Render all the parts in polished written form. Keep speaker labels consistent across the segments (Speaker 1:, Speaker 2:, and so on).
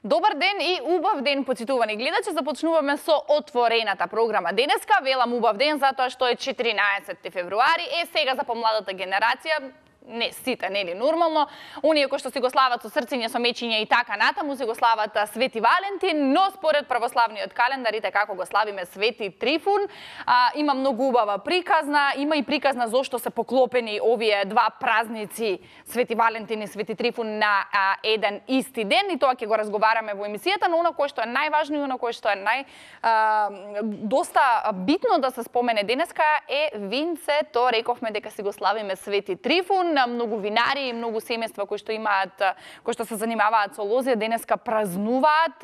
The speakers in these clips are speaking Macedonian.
Speaker 1: Добар ден и убав ден, почитувани гледачи. Започнуваме со отворената програма. Денеска велам убав ден затоа што е 14 февруари. Сега за помладата генерација, не сите, нели нормално, оние кои што си го слават со срциња, со мечиња и така натаму си го слават Свети Валентин, но според православниот календар, како го славиме Свети Трифун, има многу убава приказна, има и приказна зошто се поклопени овие два празници, Свети Валентин и Свети Трифун, на еден исти ден, и тоа ќе го разговараме во емисијата, но она кое што е најважно и она кое што е доста битно да се спомене денеска е винцето. Рековме дека си го славиме Свети Трифун. Многу винари и многу семејства кои што се занимаваат со лозија денеска празнуваат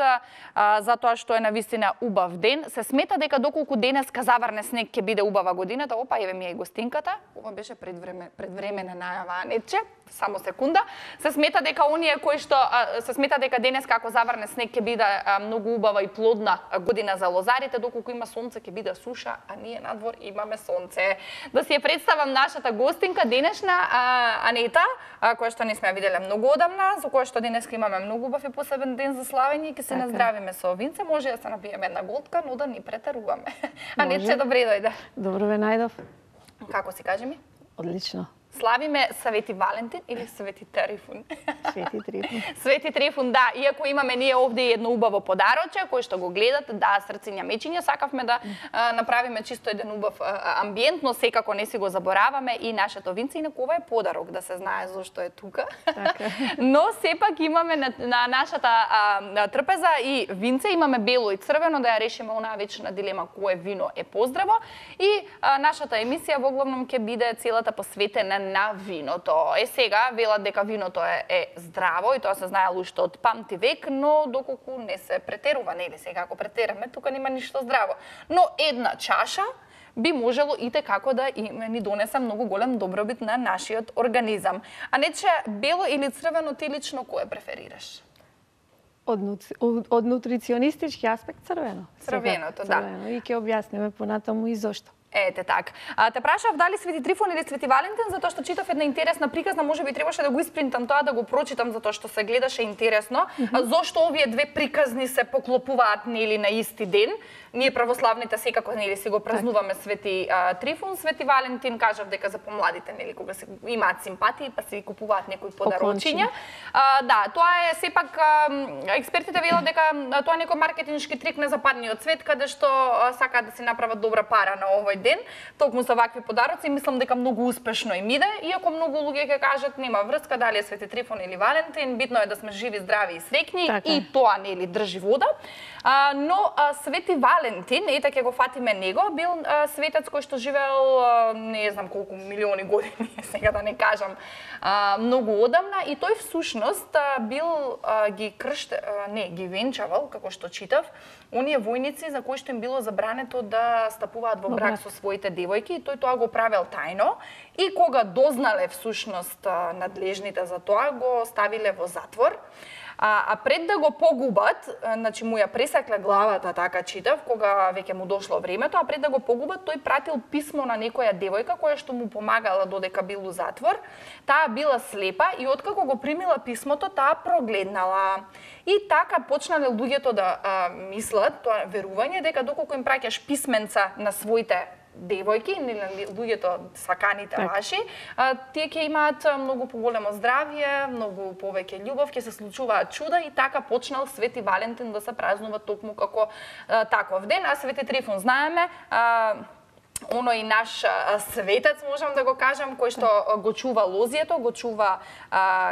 Speaker 1: затоа што е навистина убав ден. Се смета дека доколку денеска заврне снег ќе биде убава годината. Опа, еве ми е и гостинката. Ова беше предвремена најава, нече. Само секунда. Се смета дека оние кои што се смета дека денеска ако заврне снег ќе биде многу убава и плодна година за лозарите, доколку има сонце ќе биде суша, а ние надвор имаме сонце. Да си ја представам нашата гостинка денешна, Анета, која што не сме ја виделе многу одамна, за која што денеска имаме многу убав и посебен ден за славење и ќе се наздравиме со винце. Може да се напиеме една голтка, но да ни претеруваме. Анете, добре дојде.
Speaker 2: Добро ве најдов.
Speaker 1: Како си, кажи ми?
Speaker 2: Одлично.
Speaker 1: Славиме Свети Валентин или Свети Трифун?
Speaker 2: Свети Трифун.
Speaker 1: Свети Трифун, да. Иако имаме ние овде едно убаво подароче, кој што го гледат, да, срциња мечиња, сакавме да направиме чисто еден убав амбиент, но секако не си го забораваме и нашето винце, инаку ова е подарок, да се знае зошто е тука.
Speaker 2: Така.
Speaker 1: Но сепак имаме на нашата трпеза и винце, имаме бело и црвено, да ја решиме онаа вечна дилема кое вино е поздраво. И нашата емисија во главном ќе биде целата посветена на виното. Сега велат дека виното е здраво и тоа се знаело уште од памти век, но доколку не се претерува, нели сега ако претераме, тука нема ништо здраво. Но една чаша би можело и како да ни донесе многу голем добробит на нашиот организам. А нече бело или црвено, ти лично кое преферираш?
Speaker 2: Од нутриционистички аспект црвено.
Speaker 1: Црвеното, да.
Speaker 2: И ќе објасниме понатаму и зошто.
Speaker 1: Ете так. Те прашав дали Свети Трифун или Свети Валентин, затоа што читав една интересна приказна, можеби требаше да го испринтам тоа, да го прочитам, затоа што се гледаше интересно. Зошто овие две приказни се поклопуваат нели на исти ден? Ние православните секако нели си го празнуваме Свети Трифун, Свети Валентин, кажав дека за помладите нели кога се имаат симпатии, па си купуваат некои подарочиња. Да, тоа е сепак експертите велат дека тоа е некој маркетиншки трик на западниот свет, каде што сакаат да си направат добра пара на овој ден, токму за вакви подароци. Мислам дека многу успешно им иде, иако многу луѓе ќе кажат нема врска дали е Свети Трифун или Валентин, битно е да сме живи, здрави и среќни, така. И тоа нели држи вода. Но Свети Валентин, ете ќе го фатиме него, бил светец кој што живеел не знам колку милиони години, сега да не кажам многу одамна, и тој всушност бил ги венчавал, како што читав, оние војници за кои што им било забрането да стапуваат во брак со своите девојки, и тој тоа го правел тајно, и кога дознале всушност надлежните за тоа, го ставиле во затвор. А пред да го погубат, значи му ја пресакле главата, така читав, кога веќе му дошло времето, а пред да го погубат, тој пратил писмо на некоја девојка која што му помагала додека бил у затвор. Таа била слепа и откако го примила писмото, таа прогледнала. И така почнале луѓето да мислат, тоа верување, дека доколку им праќаш писменца на своите девојки, луѓето саканите ваши, тие ќе имаат многу поголемо здравје, многу повеќе љубов, ќе се случуваат чуда, и така почнал Свети Валентин да се празнува токму како таков ден. А Свети Трифун знаеме, оној наш светец, можам да го кажам, кој што го чува лозието, го чува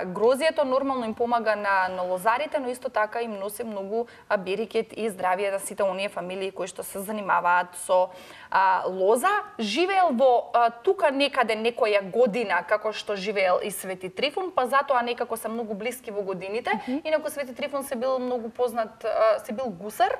Speaker 1: грозието, нормално им помага на лозарите, но исто така им носи многу берекет и здравје за сите оние фамилии кои што се занимаваат со лоза. Живеел во тука некаде некоја година, како што живеел и Свети Трифун, па затоа некако се многу блиски во годините. Инаку Свети Трифун се бил многу познат, се бил гусар,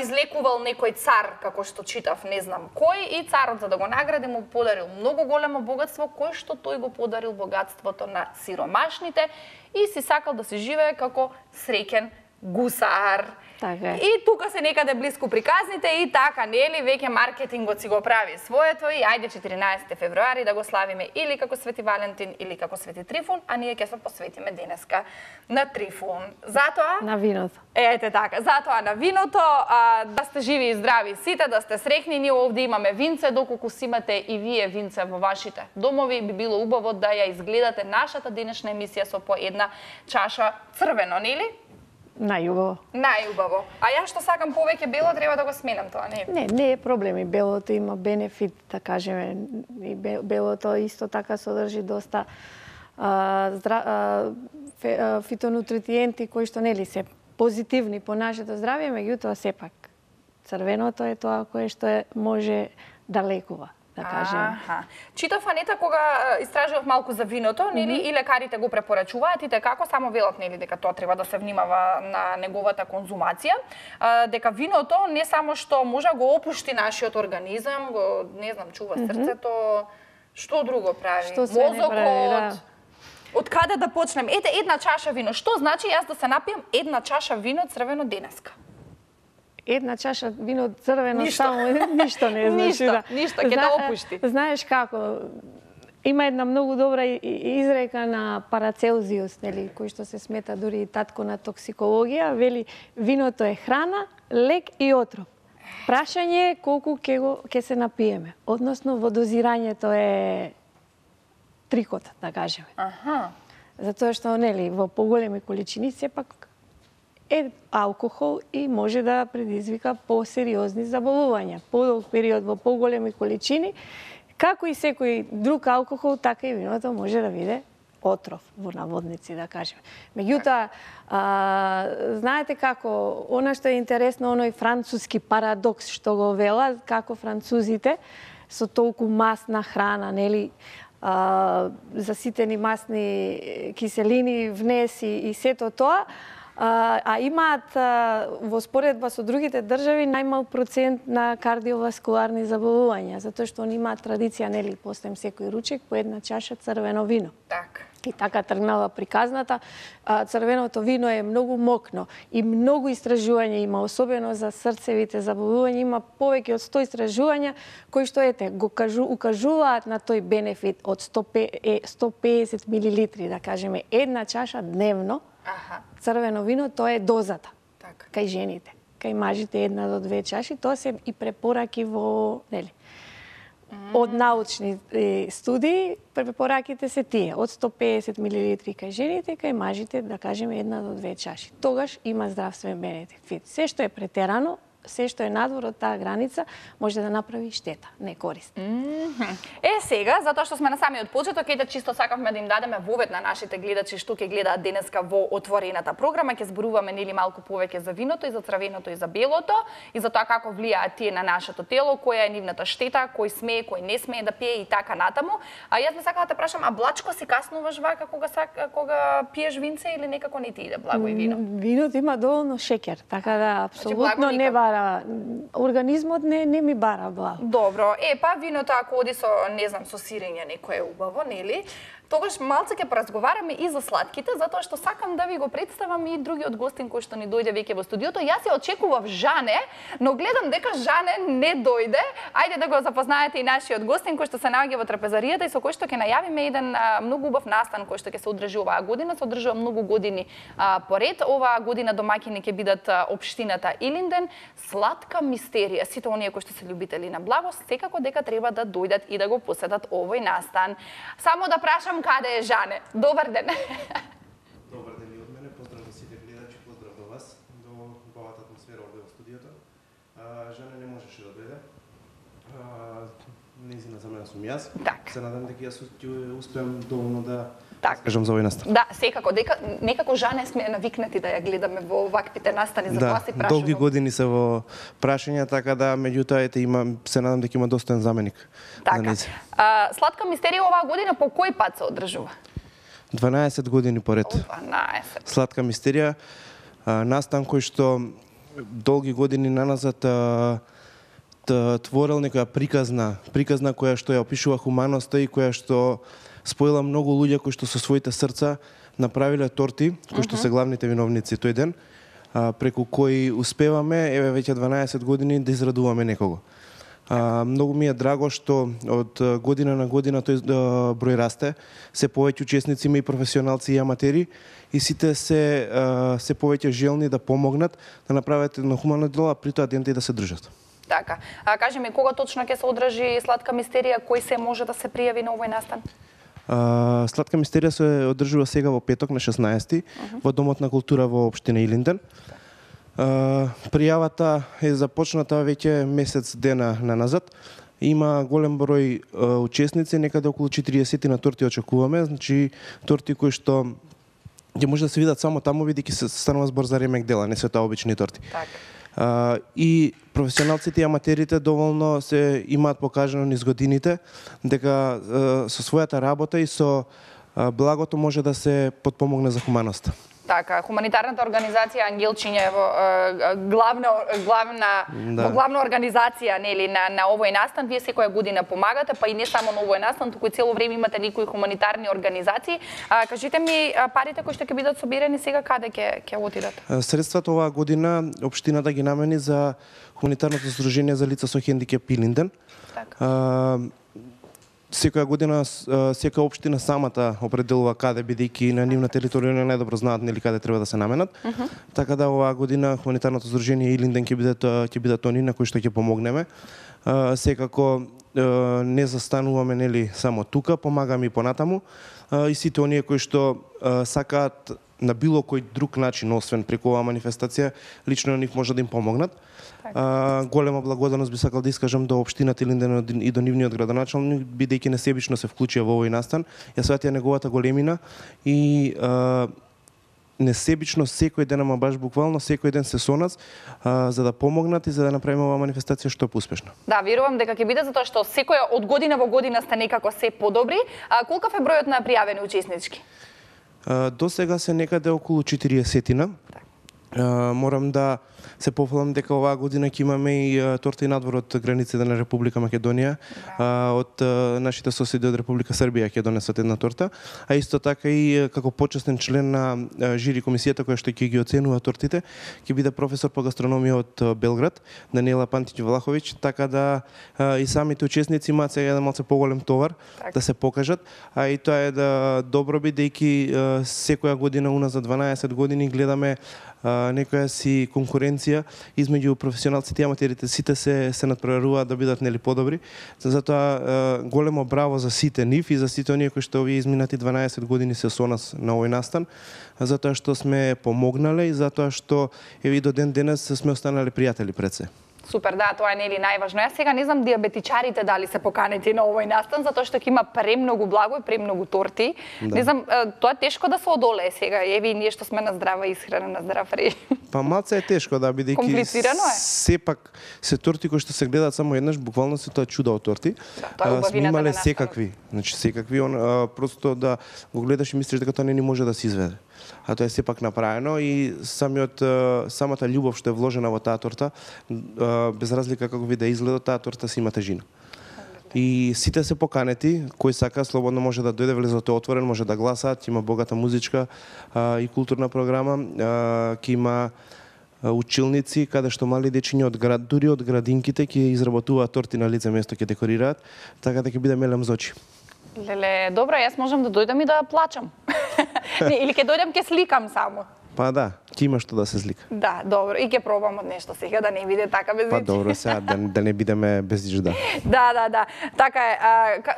Speaker 1: излекувал некој цар, како што читав, не знам кој, и царот за да го награди му подарил многу големо богатство, кој што тој го подарил богатството на сиромашните, и си сакал да се живее како среќен гусар.
Speaker 2: Така е.
Speaker 1: И тука се некаде близко приказните и така, нели, веќе маркетингот си го прави своето и ајде 14 февруари да го славиме или како Свети Валентин или како Свети Трифун, а ние ќе се посветиме денеска на Трифун. Затоа
Speaker 2: На виното.
Speaker 1: ете така, затоа на виното, да сте живи и здрави сите, да сте среќни, ние овде имаме винце, доколку си имате и вие винце во вашите домови, би било убаво да ја изгледате нашата денешна емисија со по една чаша црвено, нели?
Speaker 2: Најубаво.
Speaker 1: Најубаво. А јас што сакам повеќе бело, треба да го сменам тоа, не?
Speaker 2: Не е проблем, и белото има бенефит, да кажеме, и белото исто така содржи доста фитонутриенти кои што нели се позитивни по нашето здравје, меѓутоа сепак црвеното е тоа кое што може да лекува, да кажеме.
Speaker 1: Читав, Анета, кога истражував малку за виното, нели, и лекарите го препорачуваат, и како само велат, нели, дека тоа треба да се внимава на неговата конзумација, дека виното не само што може да го опушти нашиот организам, го, не знам, чува срцето, што друго прави?
Speaker 2: Што се не прави, да.
Speaker 1: Од каде да почнем? Ете, една чаша вино. Што значи јас да се напијам една чаша вино црвено денеска?
Speaker 2: Една чаша вино црвено само ништо не значи.
Speaker 1: Ништо, ќе да опушти.
Speaker 2: Знаеш како, има една многу добра изрека на Парацелзиус, нели, кој што се смета дури и татко на токсикологија, вели виното е храна, лек и отров. Прашање е колку ќе се напиеме, односно во дозирањето е трикот, да кажеме. Затоа што, нели, во поголеми количини сепак е алкохол и може да предизвика посериозни заболувања. Подолг период во поголеми количини, како и секој друг алкохол, така и виното може да биде отров, во наводници, да кажеме. Меѓутоа, знаете како, она што е интересно, оној француски парадокс што го велат, како французите со толку масна храна, нели, заситени масни киселини, внеси и сето тоа, а имаат во споредба со другите држави најмал процент на кардиоваскуларни заболувања, затоа што они имаат традиција, нели, после секој ручек по една чаша црвено вино.
Speaker 1: Так.
Speaker 2: И така тргнала приказната. Црвеното вино е многу мокно и многу истражувања има, особено за срцевите заболувања, има повеќе од 100 истражувања кои што го укажуваат на тој бенефит од 150 милилитри, да кажеме, една чаша дневно. Црвено вино, тоа е дозата.
Speaker 1: Так.
Speaker 2: Кај жените, кај мажите 1 до 2 чаши, тоа се и препораки во, нели, од научни студии, препораките се тие, од 150 милилитри кај жените, кај мажите, да кажеме, 1 до 2 чаши. Тогаш има здравствен бенефит. Се што е претерано, се што е надвор од таа граница, може да направи штета, не корист.
Speaker 1: Сега, затоа што сме на самиот почеток, чисто сакавме да им дадеме вовед на нашите гледачи што ќе гледаат денеска во отворената програма, ќе зборуваме нели малку повеќе за виното и за црвеното и за белото и за тоа како влијаат тие на нашето тело, која е нивната штета, кој смее, кој не смее да пие и така натаму. А јас би сакала да те прашам, а блачко си каснуваш вака кога пиеш винце или некако не ти иде благо и вино?
Speaker 2: Виното има доволно шеќер, така да апсолутно не бара, организмот не ми бара благо.
Speaker 1: Добро, па виното ако оди со, не знам, со сирење некое е убаво, нели? Тогаш малце ќе поразговараме и за сладките, затоа што сакам да ви го представам и другиот гостин кој што ни дојде веќе во студиото. Јас ја очекував Жане, но гледам дека Жане не дојде. Ајде да го запознаете и нашиот гостин кој што се наоѓа во трапезаријата и со кој што ќе најавиме еден многу убав настан кој што ќе се одржи оваа година. Се одржува многу години поред. Оваа година домаќини ќе бидат општината Илинден. Сладка мистерија. Сите оние кои што се љубители на благо, секако дека треба да дојдат и да го посетат овој настан. Само да прашам каде е Жане. Добар ден.
Speaker 3: Добар ден и од мене. Поздрав до сите гледачи, поздрав до вас, до убавата атмосфера овде во студиото. Жане не можеше да дојде. Неизина за мене сум јас.
Speaker 1: Так.
Speaker 3: Се надам дека јас ќе успеам доволно да
Speaker 1: Так.
Speaker 3: кажам за овој настан.
Speaker 1: Да, секако, дека некако Жане сме навикнати да ја гледаме во ваквите настани, за тоа се прашувам.
Speaker 3: Долги години се во прашања, така да меѓутоа ете се надам дека има достоен заменик.
Speaker 1: Така. Сладка мистерија оваа година по кој пат се одржува?
Speaker 3: 12 години поред.
Speaker 1: 12.
Speaker 3: Сладка мистерија, настан кој што долги години наназад творел некоја приказна која што ја опишува хуманоста и која што споила многу луѓе кои што со своите срца направиле торти, кои што се главните виновници тој ден. преку кои успеваме, еве веќе 12 години да израдуваме некого. Многу ми е драго што од година на година тој број расте, се повеќе учесници има и професионалци и аматери и сите се повеќе желни да помогнат, да направат едно хумано дело, а при тоа дента и да се држат.
Speaker 1: Така. Кажи ми, кога точно ќе се одржи Сладка мистерија, кој се може да се пријави на овој настан?
Speaker 3: Сладка мистерија се одржува сега во петок на 16 во Домот на култура во општина Илинден. Пријавата е започната веќе месец дена наназад. Има голем број учесници, некаде околу 40 на торти очекуваме, значи торти кои што ќе може да се видат само таму, бидејќи се станува збор за ремек дела, не се тоа обични торти.
Speaker 1: Така.
Speaker 3: И професионалците и аматерите доволно се имаат покажано низ годините дека со својата работа и со благото може да се потпомогне за хуманоста.
Speaker 1: Така, хуманитарната организација Ангелчиња е главна организација нели на овој настан. Вие секоја година помагате, па и не само на овој настан, туку и цело време имате некои хуманитарни организации. Кажете ми, парите кои што ќе бидат собирани сега каде ќе отидат?
Speaker 3: Средствата оваа година општината ги намени за хуманитарното здружение за лица со хендикеп Илинден.
Speaker 1: Така.
Speaker 3: Секоја година секоја општина самата определува каде, бидејќи на нивна територија не најдобро знаат нели каде треба да се наменат. Така да оваа година хуманитарното здружение Илинден ќе бидат они на кои што ќе помогнеме. Секако не застануваме нели само тука, помагаме и понатаму. И сите оние кои што сакаат на било кој друг начин, освен преку оваа манифестација, лично на нив може да им помогнат. Голема благодарност би сакал да искажам до општината Илинден и до нивниот градоначалник, бидејќи несебично се вклучија во овој настан. Ја сватија неговата големина и несебично секој ден, ама баш буквално секој ден се со нас за да помогнат и за да направиме оваа манифестација што поуспешна.
Speaker 1: Да, верувам дека ќе биде затоа што секоја од година во година сте некако се подобри. Колкав е бројот на пријавени учеснички?
Speaker 3: До сега се некаде околу 40-тина. Морам да се пофалам дека оваа година ќе имаме и торта и надвор од границите на Република Македонија. Од нашите соседи од Република Србија ќе донесат една торта, а исто така и како почестен член на жири комисијата која што ќе ги оценува тортите, ќе биде професор по гастрономија од Белград, Даниела Пантиќ-Влаховиќ, така да и самите учесници имаат сега еден малце поголем товар да се покажат, а и тоа е да добро бидејќи секоја година уназад 12 години гледаме некоја си конкуренција измеѓу професионалците и аматерите, сите се надпреваруваат да бидат нели подобри. Затоа големо браво за сите нив и за сите оние кои што овие изминати 12 години се со нас на овој настан, затоа што сме помогнале и затоа што еве до ден денес сме останале пријатели пред се.
Speaker 1: Супер, да, тоа е нели најважно. Јас сега не знам диабетичарите дали се поканети на овој настан, затоа што ќе има премногу благо и премногу торти. Да. Не знам, тоа е тешко да се одолее сега. Еве ние што сме на здрава исхрана, на здрав режим.
Speaker 3: Па малце е тешко, да, бидејќи
Speaker 1: комплицирано е.
Speaker 3: Сепак се торти кои што се гледаат само еднаш, буквално се тоа чудо од торти.
Speaker 1: Да, тоа е убавината на
Speaker 3: секакви, значи секакви, просто да го гледаш и мислиш дека тоа не ни може да се изведе. А тоа е сепак направено и самата љубов што е вложена во таа торта, без разлика како ви да изгледа, таа торта си има тежина. И сите се поканети, кој сака слободно може да дојде, влезот е отворен, може да гласаат, има богата музичка и културна програма, ќе има училници каде што мали дечиња од град, дури од градинките ќе изработуваат торти на лице место, ќе декорираат, така да ќе биде мелем за очи.
Speaker 1: Леле, добро, јас можам да дојдам и да плачам. Или ќе дојдам ќе сликам само.
Speaker 3: Па да, ќе има што да се слика.
Speaker 1: Да, добро, и ќе пробам од нешто сега да не биде така без
Speaker 3: Па добро, сега да не бидеме без жда.
Speaker 1: Да. Така е.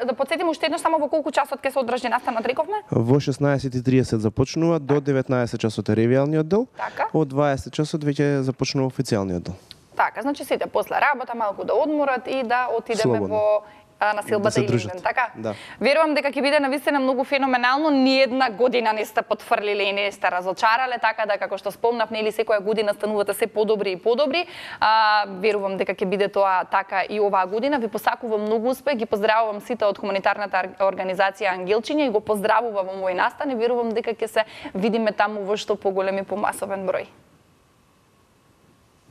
Speaker 1: Да потсетим уште еднаш само во колку часот ќе се одржи настанот, рековме?
Speaker 3: Во 16:30 започнува, до 19 часот е ревијалниот дел.
Speaker 1: Така.
Speaker 3: Од 20 часот веќе започнува официјалниот дел.
Speaker 1: Така, значи сите после работа малку да одморат и да отидеме
Speaker 3: Слободно.
Speaker 1: во насилбата Илинден, така?
Speaker 3: Да.
Speaker 1: Верувам дека ќе биде навистина многу феноменално, ни една година не сте потфрлиле и не сте разочарале, така да како што спомнав, нели секоја година станувате се подобри и подобри. Верувам дека ќе биде тоа така и оваа година. Ви посакувам многу успех, ги поздравувам сите од хуманитарната организација Ангелчиња и го поздравувам овој настан и верувам дека ќе се видиме таму во што поголем и помасовен број.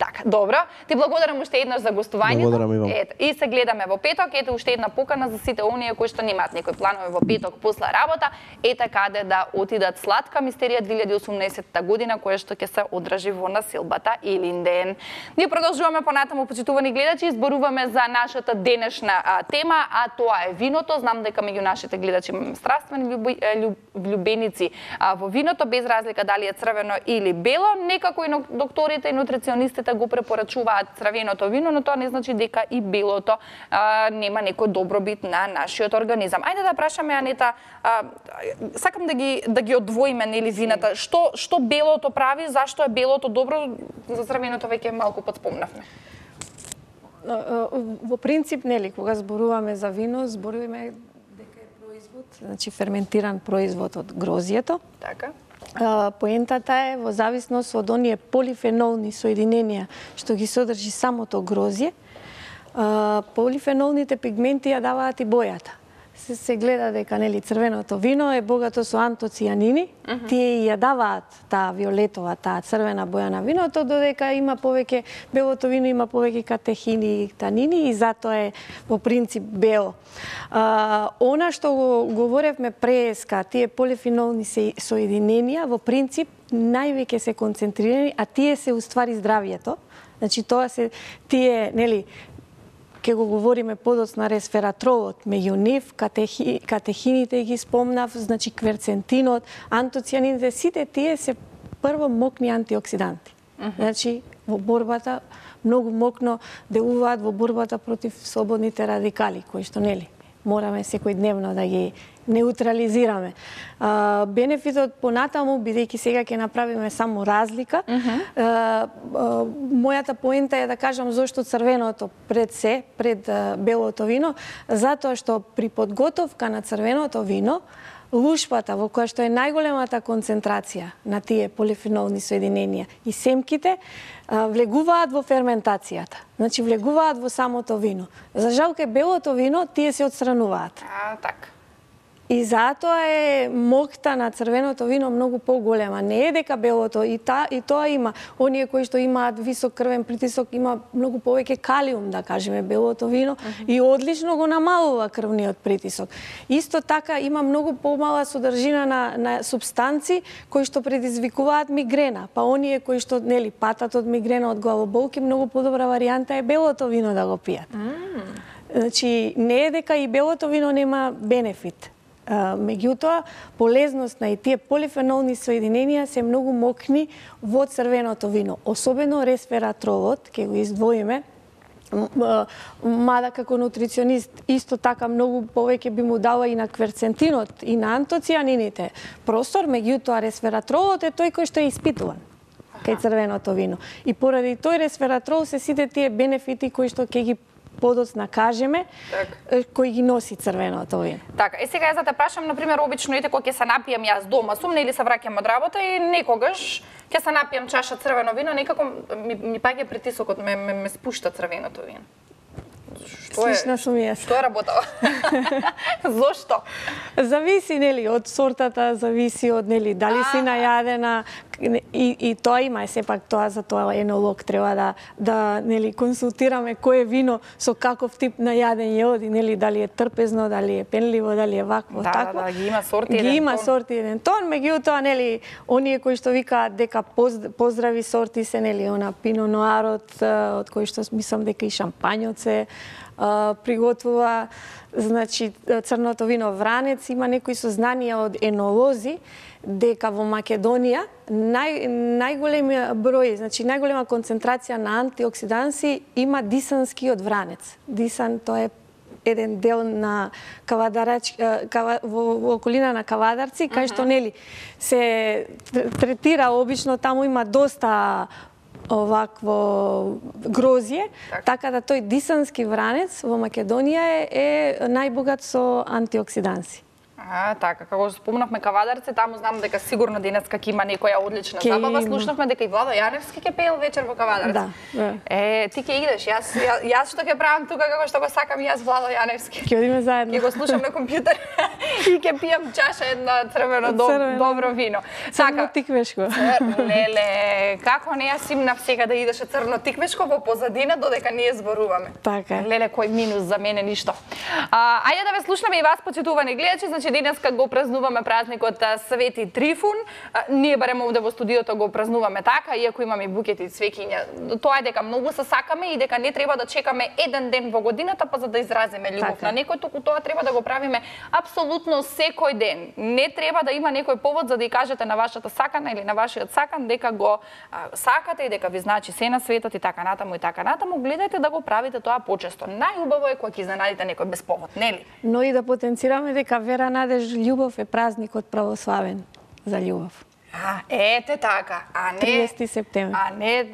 Speaker 1: Така, добро. Ти благодарам уште еднаш за гостувањето.
Speaker 3: Благодарам и вам.
Speaker 1: Ето, и се гледаме во петок. Ете уште една покана за сите оние кои што немаат некои планови во петок после работа. Ете каде да отидат Сладка мистерија 2018 година која што ќе се одржи во населбата Илинден. Ние продолжуваме понатаму, почитувани гледачи, изборуваме за нашата денешна тема, а тоа е виното. Знам дека меѓу нашите гледачи имаме страствени влюбеници во виното, без разлика дали е црвено или бело. Некако и докторите и нутриционистите го препорачуваат црвеното вино, но тоа не значи дека и белото нема некој добробит на нашиот организам. Ајде да прашаме Анета, сакам да ги одвоиме нели вината. Што белото прави, зашто е белото добро, за црвеното веќе малку подспомнавме.
Speaker 2: Во принцип, нели, кога зборуваме за вино, зборуваме дека е производ, значи ферментиран производ од грозјето.
Speaker 1: Така.
Speaker 2: Поентата е во зависност од оние полифенолни соединенија што ги содржи самото грозје, полифенолните пигменти ја даваат и бојата. Се гледа дека нели црвеното вино е богато со антоцијанини, тие ја даваат таа виолетова, таа црвена боја на виното, додека има повеќе, белото вино има повеќе катехини и танини и затоа е во принцип бело. Она што го говоревме преска, тие полифенолни соединенија во принцип највеќе се концентрирани, а тие се уствари здравјето. Значи тоа се тие, нели, ке го говориме подоцна ресвератролот, меѓу нив, катехините ги спомнав, значи кверцентинот, антоцијанините, сите тие се прво мокни антиоксиданти. Значи, во борбата, многу мокно делуваат во борбата против слободните радикали, кои што нели мораме секојдневно да ги неутрализираме. Бенефитот понатаму, бидејќи сега ќе направиме само разлика, мојата поента е да кажам зошто црвеното пред белото вино, затоа што при подготовка на црвеното вино, лушпата во која што е најголемата концентрација на тие полифенолни соединенија и семките влегуваат во ферментацијата. Значи влегуваат во самото вино. За жал кај белото вино тие се отстрануваат.
Speaker 1: Така.
Speaker 2: И затоа е мокта на црвеното вино многу поголема. Не е дека белото, и тоа има. Оние кои што имаат висок крвен притисок, има многу повеќе калиум, да кажеме, белото вино, и одлично го намалува крвниот притисок. Исто така има многу помала содржина на субстанци кои што предизвикуваат мигрена. Па оние кои што, нели, патат од мигрена, од главоболки, многу подобра варијанта е белото вино да го пијат. Значи, не е дека и белото вино нема бенефит. Меѓутоа, полезноста и тие полифенолни соединенија се многу мокни во црвеното вино. Особено ресвератролот, ќе го издвоиме, мада како нутриционист исто така многу повеќе би му дала и на кверцентинот и на антоцијанините простор, меѓутоа ресвератролот е тој кој што е испитуван кај црвеното вино. И поради тој ресвератрол се сите тие бенефити кои што ќе ги подоцна кажеме, кој ги носи црвеното вино.
Speaker 1: Така, сега ја за те прашам, например, обично ете кога ќе се напијам јас дома сум, или се враќам од работа и некогаш ќе се напијам чаша црвено вино, некако ми паѓа притисокот, ме спушта црвеното вино.
Speaker 2: Слична сум јас.
Speaker 1: Што е работава? Зошто?
Speaker 2: Зависи, нели, од сортата, зависи од, нели, дали си најадена, и тоа има, сепак тоа за тоа енолог треба да нели консултираме кое вино со каков тип најаден ја оди, нели, дали е трпезно, дали е пенливо, дали е вакво, такво.
Speaker 1: Да, ги има сорти еден
Speaker 2: тон. Ги има
Speaker 1: тон.
Speaker 2: сорти еден тон, меѓутоа, нели, оние кои што викаат дека поздрави сорти се, нели, она пино ноарот, од кој што мислам дека и шампањот се приготвува, значи црното вино Вранец, има некои сознанија од енолози дека во Македонија најголемиот број, значи најголема концентрација на антиоксиданси има дисанскиот Вранец. Дисан тоа е еден дел на во околина на Кавадарци, кај што нели се третира обично, таму има доста овакво грозје, така да тој дисански Вранец во Македонија е најбогат со антиоксиданси.
Speaker 1: Така, како спомнавме Кавадарци, таму знам дека сигурно денеска ќе има некоја одлична забава. Слушнавме дека и Владо Јаневски ќе пеел вечер во Кавадарци.
Speaker 2: Да.
Speaker 1: Ти ќе идеш, јас што ќе правам тука како што го сакам јас Владо Јаневски.
Speaker 2: Ќе одиме заедно.
Speaker 1: Ќе го слушам на компјутер и ќе пијам чаша една црвено добро вино.
Speaker 2: Црно тиквешко.
Speaker 1: Леле, како не јас имнав сега да идеше црно тиквешко во позадина додека ние зборуваме.
Speaker 2: Така.
Speaker 1: Леле, кој минус за мене ништо. Ајде да ве слушнаме и вас, почитувани гледачи, значи денеска го празнуваме празникот Свети Трифун. Ние барем овде во студиото го празнуваме така, иако имаме букети и цвеќиња. Тоа е дека многу се сакаме и дека не треба да чекаме еден ден во годината па за да изразиме љубов на некој, туку тоа треба да го правиме апсолутно секој ден. Не треба да има некој повод за да ја кажете на вашата сакана или на вашиот сакан дека го сакате и дека ви значи се на светот и така натаму и така натаму. Гледајте да го правите тоа почесто. Најубаво е кога ќе изненадите некој без повод, нели?
Speaker 2: Но и да потенцираме дека вера, надеж, љубов е празникот православен за љубов.
Speaker 1: Ете така, а не
Speaker 2: 30 септември.
Speaker 1: А не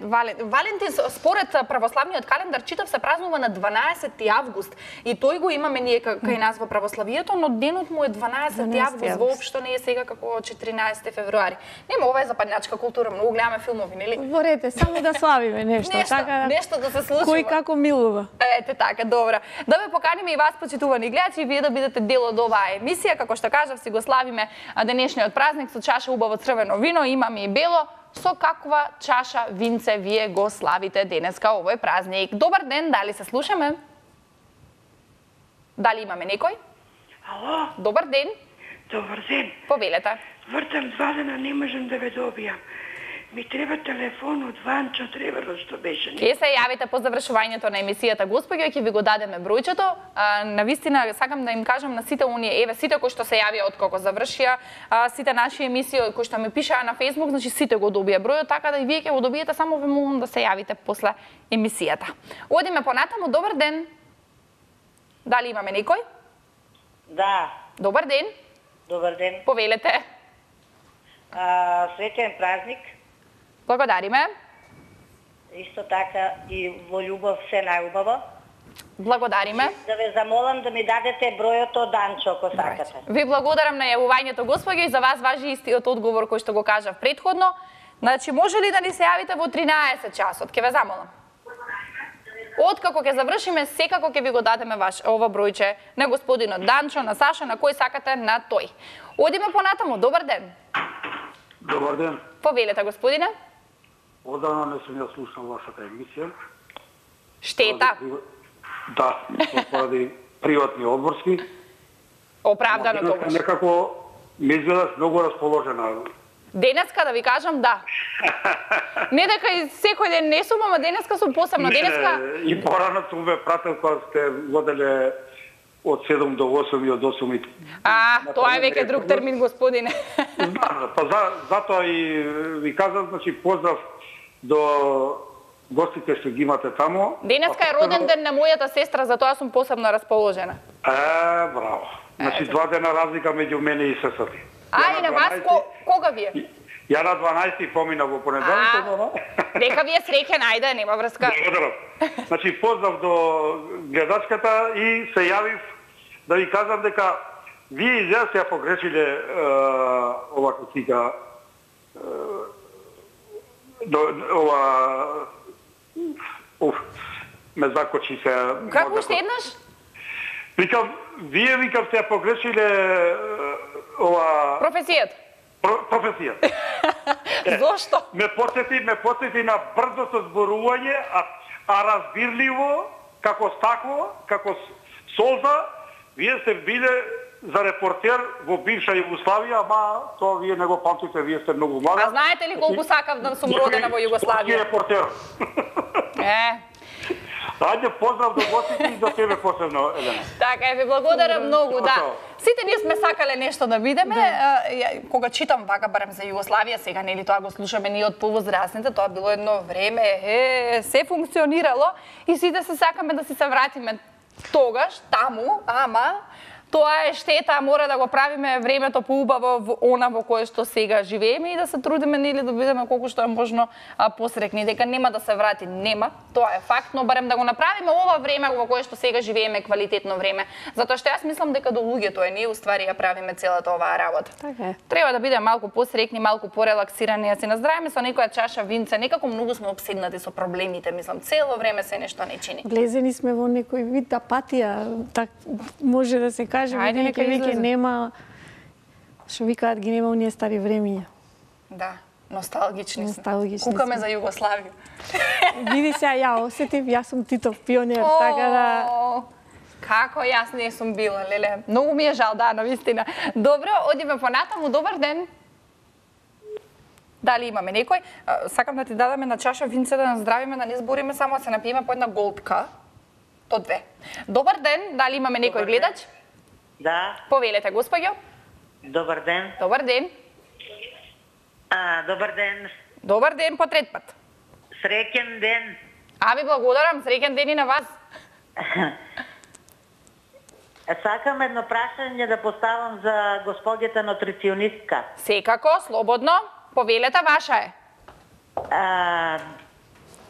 Speaker 1: Валентин според православниот календар читав се празнува на 12 август и тој го имаме ние кај нас во православието, но денот му е 12 август, воопшто не е сега како 14 февруари. Нема, ова е западњачка култура, многу гледаме филмови, нели?
Speaker 2: Ворете, само да славиме нешто, така
Speaker 1: нешто да се случува.
Speaker 2: Кој како милува.
Speaker 1: Ете така, добра. Да ве поканиме и вас, почитувани гледачи, и вие да бидете дел од оваа емисија, како што кажав, си го славиме денешниот празник со чаша убаво црвено вино, имаме и бело. Со каква чаша винце вие го славите денеска овој празник? Добар ден, дали се слушаме? Дали имаме некој?
Speaker 4: Ало?
Speaker 1: Добар ден.
Speaker 4: Добар ден.
Speaker 1: Повелете.
Speaker 4: Вртам 2 дена, не можам да ве добијам. Ми треба телефон од Ванчо Треверо што беше.
Speaker 1: Ке се јавите по завршувањето на емисијата, господјо, ќе ви го дадеме бројчето. Навистина сакам да им кажам на сите оние, сите кои што се јавија откако завршија, сите наши емисии кои што ми пишаа на Facebook, значи сите го добија бројот, така да и вие ќе го добиете, само ве молам да се јавите после емисијата. Одиме понатаму, добар ден. Дали имаме некој?
Speaker 5: Да.
Speaker 1: Добар ден.
Speaker 5: Добар ден.
Speaker 1: Повелете.
Speaker 5: Среќен празник.
Speaker 1: Благодариме.
Speaker 5: Исто така и во љубов се најубаво.
Speaker 1: Благодариме.
Speaker 5: Да ве замолам да ми дадете бројот од Данчо, ако сакате.
Speaker 1: Ви благодарам на јавувањето, господјо, и за вас важи истиот одговор кој што го кажав претходно. Значи, може ли да ни се јавите во 13 часот? Ке ве замолам. Откако ќе завршиме, секако ќе ви го дадеме ова бројче на господинот Данчо, на Саша, на кој сакате, на тој. Одиме понатаму, добар ден.
Speaker 6: Добар ден.
Speaker 1: Повелете, господине.
Speaker 6: Одавна не сум ја слушал вашата емисија.
Speaker 1: Штета.
Speaker 6: Да, поради приватни одморски.
Speaker 1: Оправдано тогаш.
Speaker 6: Некако ми изгледаш многу расположена.
Speaker 1: Денеска да ви кажам да. Не дека и секој ден не сум, ама денеска сум посебно. Денеска
Speaker 6: И порано сум ве прател кога сте воделе од 7 до 8 и од 8 и...
Speaker 1: Тоа е веќе друг термин, господине.
Speaker 6: Знам, па затоа и ви казам, значи поздрав до гостите што ги имате таму.
Speaker 1: Денеска е роден ден на мојата сестра, затоа сум посебно расположена.
Speaker 6: Браво. Значи 2 дена разлика меѓу мене и сестрата.
Speaker 1: И на вас кога ви е?
Speaker 6: Ја на 12 помина во понеделник.
Speaker 1: Дека ви е среќен, ајде, нема врска.
Speaker 6: Благодарам. Значи поздрав до гледачката и се јавив да ви кажам дека вие изјас ја погрешиле ова кутика ме закочи се.
Speaker 1: Како уште еднаш?
Speaker 6: Викам, вие сте ја погрешиле ова...
Speaker 1: Професијата.
Speaker 6: Професијата.
Speaker 1: Зошто?
Speaker 6: Ме потсети на брзото зборување, а разбирливо, како стакло, како солза, вие сте биле за репортер во бивша Југославија, ама тоа вие не го памтите, вие сте многу млада.
Speaker 1: А знаете ли колку сакав да сум родена во Југославија?
Speaker 6: Репортер. Ајде, поздрав до гостите и до тебе посебно, Елена.
Speaker 1: Така, ви благодарам многу, да. Сите ние сме сакале нешто да видиме. Кога читам вака барем за Југославија, сега нели тоа го слушаме ние од повозрасните, тоа било едно време, се функционирало и сите се сакаме да се вратиме тогаш, таму, ама Тоа е штета, мора да го правиме времето поубаво во она во кое што сега живееме и да се трудиме нели да бидеме колку што е можно посрекни, дека нема да се врати, нема. Тоа е факт, но барем да го направиме ова време во кое што сега живееме квалитетно време. Затоа што јас мислам дека до луѓето е, ние уствари ја правиме целата оваа работа.
Speaker 2: Така е.
Speaker 1: Треба да бидеме малку посрекни, малку порелаксирани, да се наздравиме со некоја чаша винце, некако многу сме обседнати со проблемите, мислам, цело време се нешто не чини.
Speaker 2: Влезени сме во некој вид апатија, так може да се каже,
Speaker 1: Ајде,
Speaker 2: веќе нема, што викаат, ги нема оние стари времиња.
Speaker 1: Да, носталгични
Speaker 2: Носталгични
Speaker 1: сме. Кукаме
Speaker 2: сме.
Speaker 1: за Југославија.
Speaker 2: Види се, ја осетив, јас сум Титов пионер, така да...
Speaker 1: Како јас не сум била, леле. Многу ми е жал, да, навистина. Добро, одиме понатаму, добар ден. Дали имаме некој? Сакам да ти дадеме на чаша винце да наздравиме, да не збориме, само да се напиеме по една голтка. То две. Добар ден, дали имаме некој гледач?
Speaker 5: Да,
Speaker 1: Повелете, господјо.
Speaker 5: добар ден.
Speaker 1: Добар ден.
Speaker 5: Добар ден.
Speaker 1: Добар ден по трет пат.
Speaker 5: Среќен ден.
Speaker 1: Ви благодарам, среќен ден и на вас.
Speaker 5: Сакам едно прашање да поставам за господјата нутриционистка.
Speaker 1: Секако, слободно. Повелете, ваша е.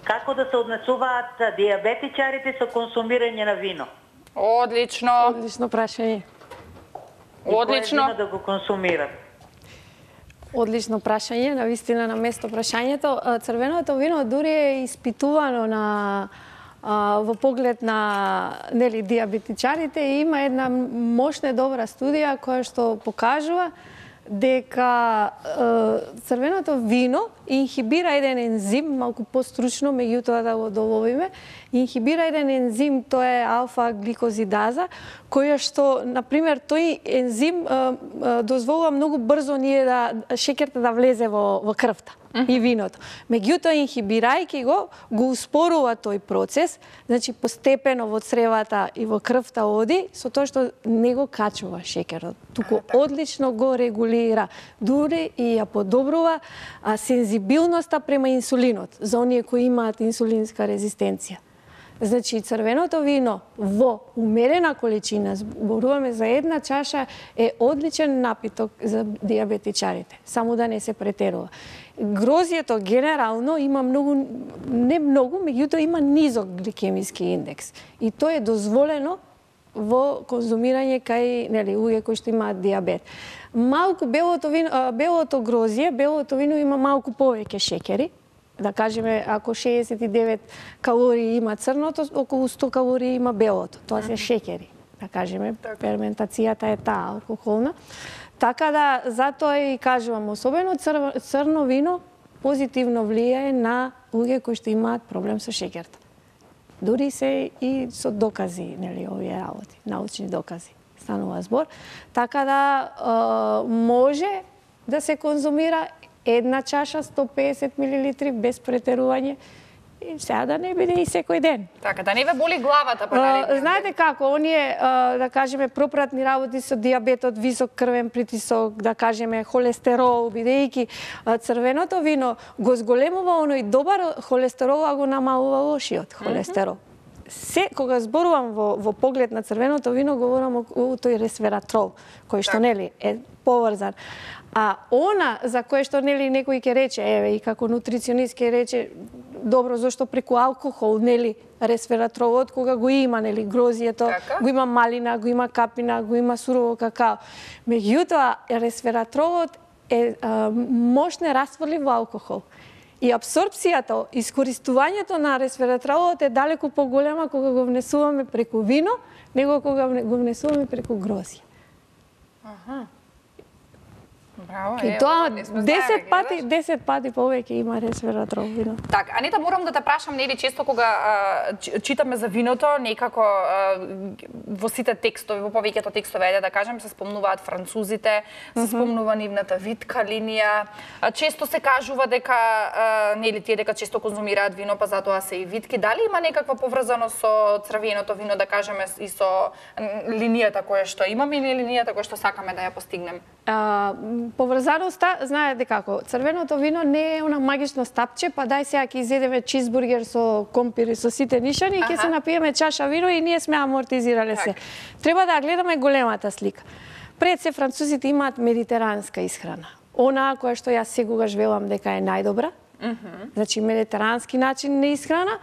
Speaker 5: Како да се однесуваат диабетичарите со консумирање на вино?
Speaker 1: Одлично.
Speaker 2: Одлично прашање.
Speaker 5: И кое
Speaker 1: Одлично.
Speaker 5: вино да го консумират?
Speaker 2: Одлично прашање, навистина на место прашањето. Црвеното вино дури е испитувано во поглед на нели диабетичарите и има една мощна добра студија која што покажува дека црвеното вино инхибира еден ензим, малку постручно, меѓутоа да го доловиме, инхибира еден ензим, тоа е алфа-гликозидаза, која што, например, тој ензим дозволува многу брзо ние да шеќерта да влезе во крвта и виното. Меѓутоа, инхибирајќи го успорува тој процес, значи постепено во цревата и во крвта оди, со тоа што не го качува шеќерот, туку одлично го регулира, дури и ја подобрува сензибилноста према инсулинот за оние кои имаат инсулинска резистенција. Значи, црвеното вино во умерена количина, зборуваме за една чаша, е одличен напиток за диабетичарите, само да не се претерува. Грозјето генерално има многу, не многу, меѓутоа има низок гликемиски индекс. И тоа е дозволено во конзумирање кај луѓе кои што имаат диабет. Малку белото вино има малку повеќе шеќери. Да кажеме, ако 69 калории има црното, околу 100 калории има белото. Тоа се шеќери. Да кажеме, ферментацијата е таа алкохолна. Така да, затоа и кажувам, особено црно вино позитивно влијае на луѓе кои што имаат проблем со шеќерта. Дури се и со докази, нели, овие работи, научни докази. Станува збор. Така да, може да се конзумира една чаша 150 мл без претерување, и сега да не биде и секој ден.
Speaker 1: Така, да не ве боли главата по наредниот.
Speaker 2: Знаете како, оние, да кажеме, пропратни работи со диабетот, висок крвен притисок, да кажеме, холестерол, бидејќи црвеното вино го зголемува оној добар холестерол, а го намалува лошиот холестерол. Се, кога зборувам во поглед на црвеното вино, говорам о тој ресвератрол, кој што, нели, е поврзан. А она за кое што нели некој ќе рече, еве и како нутриционист ќе рече, добро, зошто преку алкохол, нели, ресвератролот кога го има, нели, грозието, го има малина, го има капина, го има сурово какао. Меѓутоа, ресвератролот е мощно растворлив во алкохол. И апсорбцијата, искористувањето на ресвератролот е далеку поголема кога го внесуваме преку вино, него кога го внесуваме преку грозје.
Speaker 1: Браво,
Speaker 2: И тоа 10 пати повеќе има ресвератрол вино.
Speaker 1: Так, Анита, морам да те прашам, нели често кога читаме за виното, некако во сите текстови, во повеќето текстови, да кажем, се спомнуваат французите, се спомнува нивната витка линија. Често се кажува дека нели тие дека често конзумираат вино, па затоа се и витки. Дали има некаква поврзаност со црвеното вино, да кажеме, и со линијата која што имаме или линијата која што сакаме да ја постигнеме?
Speaker 2: поврзаноста, знаете како, црвеното вино не е она магично стапче, па дај сега ќе изедеме чизбургер со компир и со сите нишани и ќе се напиеме чаша вино и ние сме амортизирале се. Треба да гледаме големата слика. Пред се французите имаат медитеранска исхрана. Она која што јас секогаш велам дека е најдобра. Значи медитерански начин на исхрана,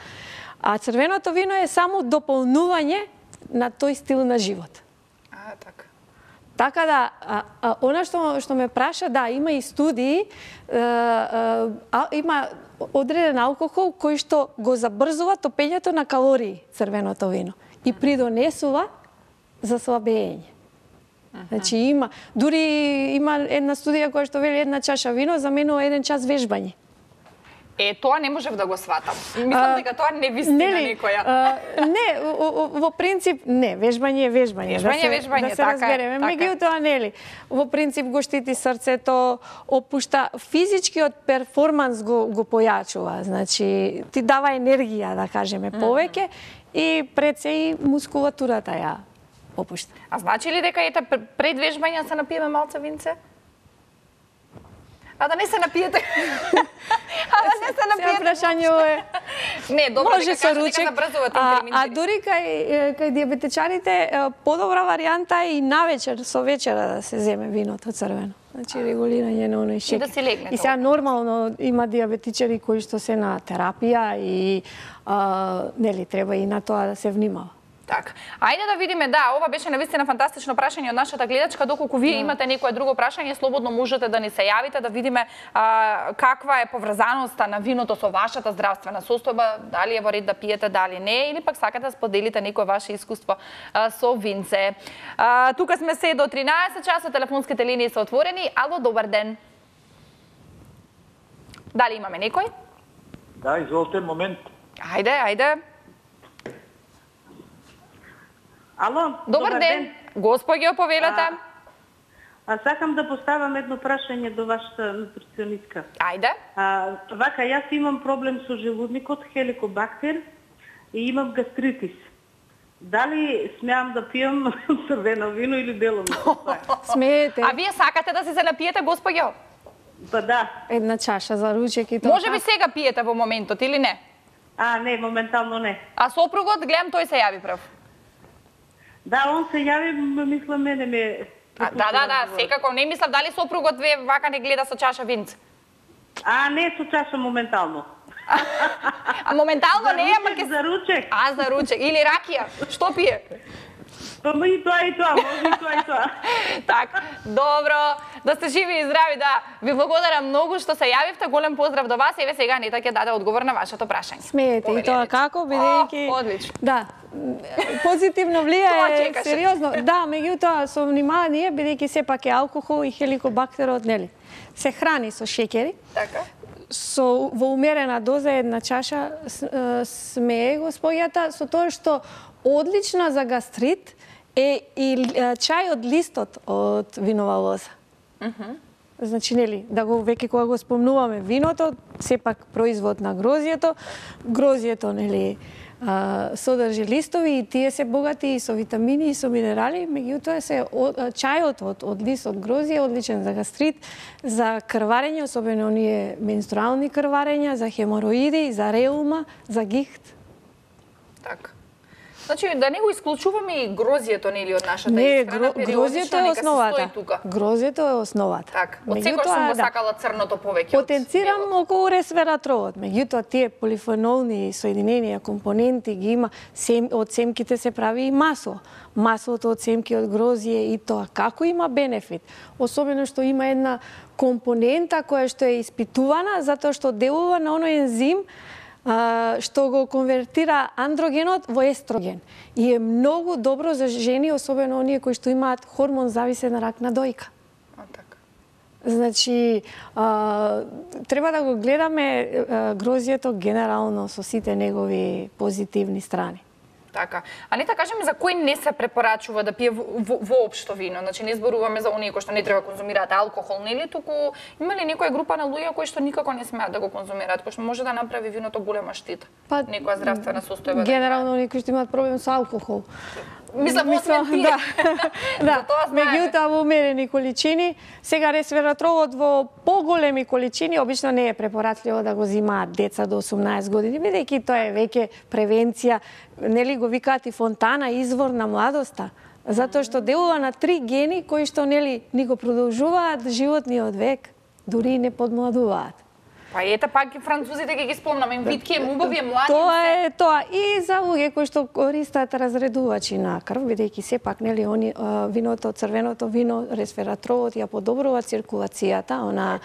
Speaker 2: а црвеното вино е само дополнување на тој стил на живот.
Speaker 1: Така.
Speaker 2: Така да, она што ме праша, да, има и студии, има одреден алкохол кој што го забрзува топењето на калории црвеното вино и придонесува за слабење. Значи дури има една студија која што вели една чаша вино заменува 1 час вежбање.
Speaker 1: Тоа не можев да го сватам. Мислам дека тоа не вистина некоја.
Speaker 2: Не, во принцип не, вежбање е вежбање.
Speaker 1: Вежбање,
Speaker 2: да се разбереме. Меѓутоа нели, во принцип го штити срцето, опушта физичкиот перформанс го појачува. Значи ти дава енергија, да кажеме, повеќе и пред се и мускулатурата ја опушта.
Speaker 1: А значи ли дека ете пред вежбање се напиеме малце винце? А да не се напиете.
Speaker 2: Сега прашањето е...
Speaker 1: Не, добро,
Speaker 2: може со ручек. А дури кај диабетичарите подобра варијанта е и навечер со вечера да се земе виното црвено. Значи регулирање на оној шеќер.
Speaker 1: И да се легне.
Speaker 2: И сега нормално има диабетичари кои што се на терапија и нели треба и на тоа да се внимава.
Speaker 1: Така. Ајде да видиме, да, ова беше навистина фантастично прашање од нашата гледачка. Доколку вие имате некое друго прашање, слободно можете да ни се јавите, да видиме каква е поврзаноста на виното со вашата здравствена состојба, дали е во ред да пиете, дали не, или пак сакате да споделите некое ваше искуство со винце. Тука сме се до 13 часа, телефонските линии се отворени. Ало, добар ден. Дали имаме некој?
Speaker 6: Да, изволте, момент.
Speaker 1: Ајде.
Speaker 5: Ало,
Speaker 1: добар ден. Господјо, повелете.
Speaker 5: Сакам да поставам едно прашање до вашата нутриционистка.
Speaker 1: Ајде.
Speaker 5: Вака, јас имам проблем со желудникот, хеликобактер и имам гастритис. Дали смеам да пијам црвено вино или бело вино?
Speaker 2: Смеете.
Speaker 1: А вие сакате да се напиете, господјо?
Speaker 5: Па да.
Speaker 2: Една чаша за ручек и тоа.
Speaker 1: Може би сега пиете во моментот или не?
Speaker 5: Не, моментално не.
Speaker 1: А сопругот, гледам, тој се јави прв.
Speaker 5: Да, он се јави, мислам, мене ме...
Speaker 1: Да, секако. Не мислам дали сопругот ве вака не гледа со чаша винце.
Speaker 5: Не со чаша моментално.
Speaker 1: А моментално не е, ама ќе...
Speaker 5: За ручек.
Speaker 1: За ручек. Или ракија. Што пие?
Speaker 5: Па и тоа, може и тоа.
Speaker 1: Така, добро. Да сте живи и здрави, да. Ви благодарам многу што се јавивте. Голем поздрав до вас. Еве сега Нета ќе даде одговор на вашето прашање.
Speaker 2: Смеете и тоа како, бидејќи...
Speaker 1: Одлично.
Speaker 2: Да. Позитивно влијае сериозно. Да, меѓутоа со внимание, бидејќи сепак е алкохол и хеликобактерот, нели? Се храни со шеќери.
Speaker 1: Така.
Speaker 2: Во умерена доза една чаша смее господјата со тоа што одлична за гастрит е и чај од листот од винова лоза. Значи, нели, да го веќе кога го спомнуваме виното, сепак производ на грозјето. Грозјето, нели, содржи листови и тие се богати и со витамини и со минерали, меѓутоа чајот од лист од грозје е одличен за гастрит, за крварење, особено оние менструални крварења, за хемороиди, за реума, за гихт.
Speaker 1: Така. Значи, да не го исклучуваме и грозјето, нели, од нашата
Speaker 2: исхрана, грозјето е основата. Грозјето е основата.
Speaker 1: Така. Од секој сум го сакала црното повеќе.
Speaker 2: Потенцирам околу ресвератровот. Меѓутоа, тие полифенолни соединенија, компоненти ги има, од семките се прави и масло. Маслото од семки од грозје и тоа како има бенефит. Особено што има една компонента која што е испитувана затоа што делува на оној ензим што го конвертира андрогенот во естроген. И е многу добро за жени, особено оние кои што имаат хормон зависен рак на дојка. Значи, треба да го гледаме грозјето генерално со сите негови позитивни страни.
Speaker 1: Така. А не кажеме за кој не се препорачува да пие воопшто вино. Значи не зборуваме за оние кои што не треба да конзумираат алкохол, нели, туку има ли некоја група на луѓе кои што никако не смеат да го конзумираат, кои што може да направи виното голема штита? Некоја здравствена состојба.
Speaker 2: Генерално оние кои што имаат проблем со алкохол.
Speaker 1: Мислам, освен тие.
Speaker 2: Да,
Speaker 1: тоа знаеме.
Speaker 2: меѓутоа во умерени количини. Сега ресвератролот во поголеми количини обично не е препорачливо да го земаат деца до 18 години, бидејќи тоа е веќе превенција, нели го викаат и фонтана, извор на младоста. Затоа што делува на 3 гени кои што нели ни го продолжуваат животниот век, дури и не подмладуваат.
Speaker 1: Па ете пак и французите ги спомнаме, им витки, убави, млади.
Speaker 2: Тоа е тоа и за луѓе кои што користат разредувачи на крв, бидејќи сепак нели виното, црвеното вино, ресвератролот ја подобрува циркулацијата, она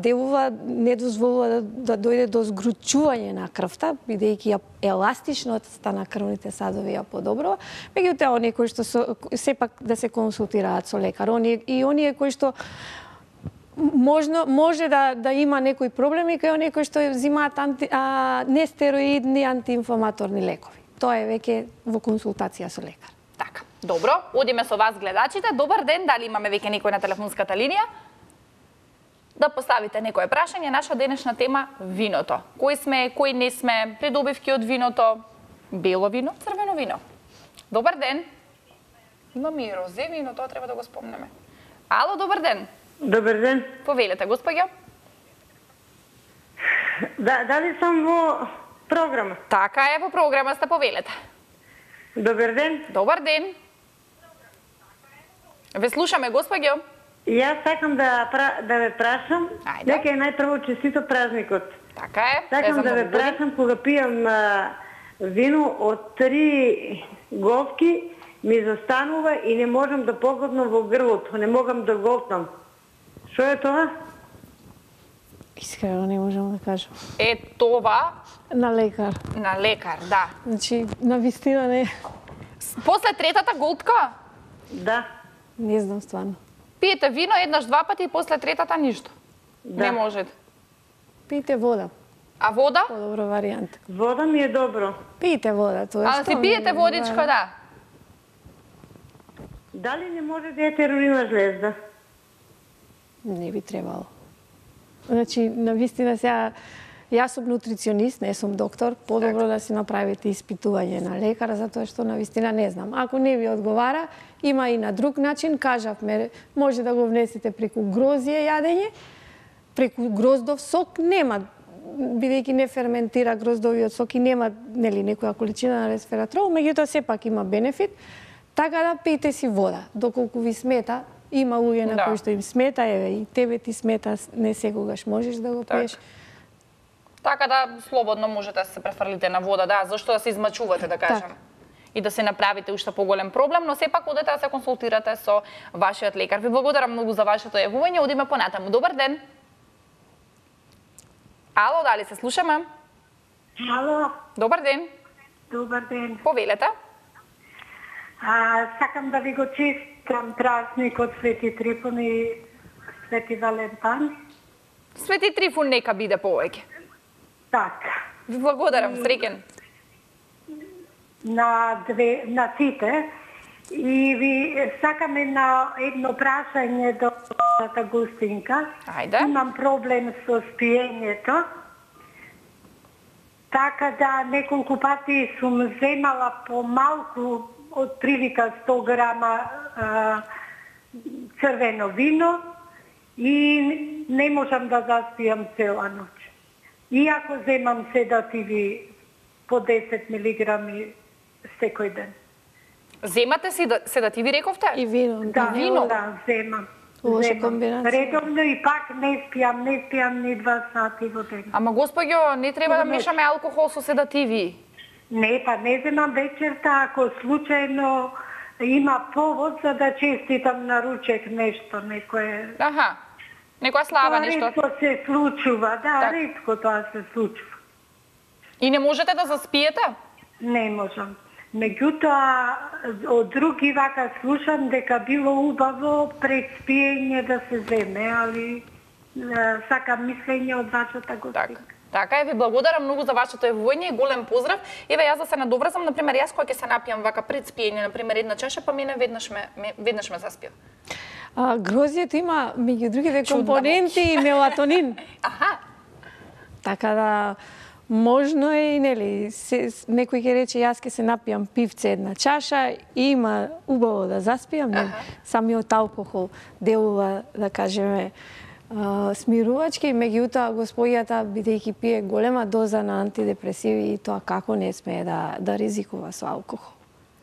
Speaker 2: делува, не дозволува да дојде до згручување на крвта, бидејќи еластичноста на крвните садови ја подобрува. Меѓутоа оние кои што сепак да се консултираат со лекар, оние кои што може да има некои проблеми кај оние кои што земаат нестероидни антиинфламаторни лекови. Тоа е веќе во консултација со лекар.
Speaker 1: Така, добро, одиме со вас гледачите. Добар ден, дали имаме веќе некој на телефонската линија? Да поставите некое прашање, наша денешна тема виното. Кој сме, кој не сме, придобивки од виното, бело вино, црвено вино. Добар ден. Имаме и розе вино, тоа треба да го спомнеме. Ало, добар ден.
Speaker 5: Добар ден.
Speaker 1: Повелете, господја.
Speaker 5: Дали сум во програма?
Speaker 1: Така е, во програма сте, повелете.
Speaker 5: Добар ден.
Speaker 1: Добар ден. Ве слушаме, господјо.
Speaker 5: Јас сакам да ве прашам,
Speaker 1: Ајде.
Speaker 5: нека е најпрво честито празникот.
Speaker 1: Така е.
Speaker 5: Сакам да ве прашам кога пијам вино од 3 говки, ми застанува и не можам да погледнам во грлото, не могам да глотнам. Што е тоа?
Speaker 2: Искрено не можам да кажам.
Speaker 1: Е това
Speaker 2: На лекар.
Speaker 1: на лекар, да.
Speaker 2: Значи, на вистина не.
Speaker 1: После третата голтка,
Speaker 5: Да.
Speaker 2: Не знам стварно.
Speaker 1: пиете вино еднаш, два пати и после третата ништо.
Speaker 5: Да.
Speaker 1: Не можете.
Speaker 2: Пиете вода.
Speaker 1: А вода?
Speaker 2: Подобро варијанта.
Speaker 5: Вода ми е добро.
Speaker 2: Пиете вода, тоа
Speaker 1: А да си пиете водичка, да.
Speaker 5: Дали не може да е терорина жлезда?
Speaker 2: Не би требало. Значи, на вистина сега, јас сум нутриционист, не сум доктор, подобро да си направите испитување на лекар, затоа што на вистина не знам. Ако не ви одговара, има и на друг начин, кажавме, може да го внесете преку грозје јадење, преку гроздов сок, нема, бидејќи не ферментира гроздовиот сок и нема нели некоја количина на ресвератрол, меѓутоа сепак има бенефит, така да пиете си вода, доколку ви смета. Има луѓе на кои што им смета, еве и тебе ти смета, не секогаш можеш да го пиеш.
Speaker 1: Така да слободно можете да се префрлите на вода, да, зашто да се измачувате, да кажем.
Speaker 2: Так.
Speaker 1: И да се направите уште поголем проблем, но сепак одете да се консултирате со вашиот лекар. Ви благодарам многу за вашето јавување, одиме понатаму. Добар ден. Ало, дали се слушаме?
Speaker 4: Ало,
Speaker 1: Добар ден.
Speaker 4: добар ден.
Speaker 1: Повелете.
Speaker 4: Сакам да ви го честитам празникот Свети Трифун и Свети Валентан.
Speaker 1: Свети Трифун нека биде повеќе.
Speaker 4: Така,
Speaker 1: Ви благодарам, среќен.
Speaker 4: на сите. И ви сакам едно прашање до Густинка.
Speaker 1: Ајде.
Speaker 4: Имам проблем со спиењето. Така да неколку пати сум земала помалку од прилика 100 грама црвено вино и не можам да заспијам цела ноќ. Иако земам седативи по 10 милиграми секој ден.
Speaker 1: Земате си седативи, рековте?
Speaker 2: И вино.
Speaker 4: Да,
Speaker 1: вино?
Speaker 4: да, земам.
Speaker 2: Лоша комбинација.
Speaker 4: Редовно и пак не спијам ни 2 сати во ден.
Speaker 1: Ама господјо, не треба да мешаме алкохол со седативи.
Speaker 4: Не, па не земам вечерта, ако случајно има повод за да честитам на ручек нешто, некое...
Speaker 1: Аха, некоја слава,
Speaker 4: Тоа
Speaker 1: нешто.
Speaker 4: ретко се случува, да,
Speaker 1: Так.
Speaker 4: ретко тоа се случува.
Speaker 1: И не можете да заспиете?
Speaker 4: Не можам. Меѓутоа, од други вака слушам дека било убаво пред спиење да се земе, али сакам мислење од вашата
Speaker 1: Така.
Speaker 4: гостинка.
Speaker 1: Така е, ви благодарам многу за вашето јавување и голем поздрав. Еве јас да се надоврзам, например, јас кога ќе се напијам вака пред спиење, например, една чаша, па мене веднаш ме заспија.
Speaker 2: Грозјето има меѓу другите
Speaker 1: Чудна
Speaker 2: компоненти и мелатонин.
Speaker 1: Аха,
Speaker 2: Така да Можно е и нели, некој ќе рече јас ќе се напијам пивце една чаша и има убаво да заспијам, нели? Самиот алкохол делува, да кажеме, смирувачки, меѓутоа господјата бидејќи пие голема доза на антидепресиви и тоа како не смее да ризикува со алкохол.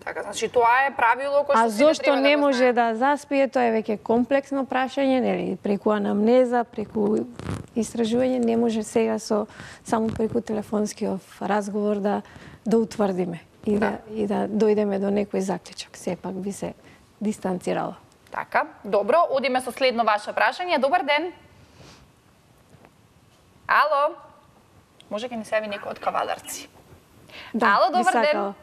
Speaker 1: Така, значи тоа е правило кој што
Speaker 2: А зошто не може да заспие, тоа е веќе комплексно прашање, нели, преку анамнеза, преку истражување, не може сега само преку телефонскиот разговор да утврдиме и да дојдеме до некој заклучок. Сепак би се дистанцирала.
Speaker 1: Така, добро, одиме со следно ваше прашање. Добар ден. Ало. Може ќе ни се јави некој од Кавадарци. Ало, добар ден.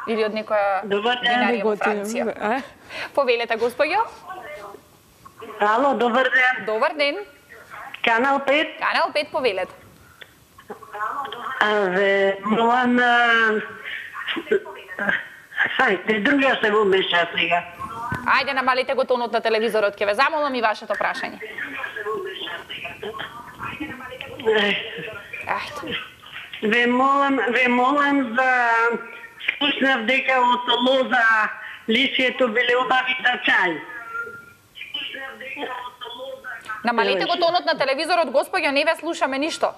Speaker 1: Или од некоја винарија во Франција. Повелете, господјо.
Speaker 5: Ало, добар ден.
Speaker 1: Добар ден.
Speaker 5: Канал 5.
Speaker 1: Канал 5, повелете.
Speaker 5: Молам... Хајде, друга се во меша сега.
Speaker 1: Ајде, намалите го тонот на телевизорот, ќе ве замолам и вашето прашање.
Speaker 5: Ве молам за... Слушнав дека од лоза лисието биле убави за чај.
Speaker 1: Намалите го тонот на телевизорот, господјо, не ве слушаме ништо.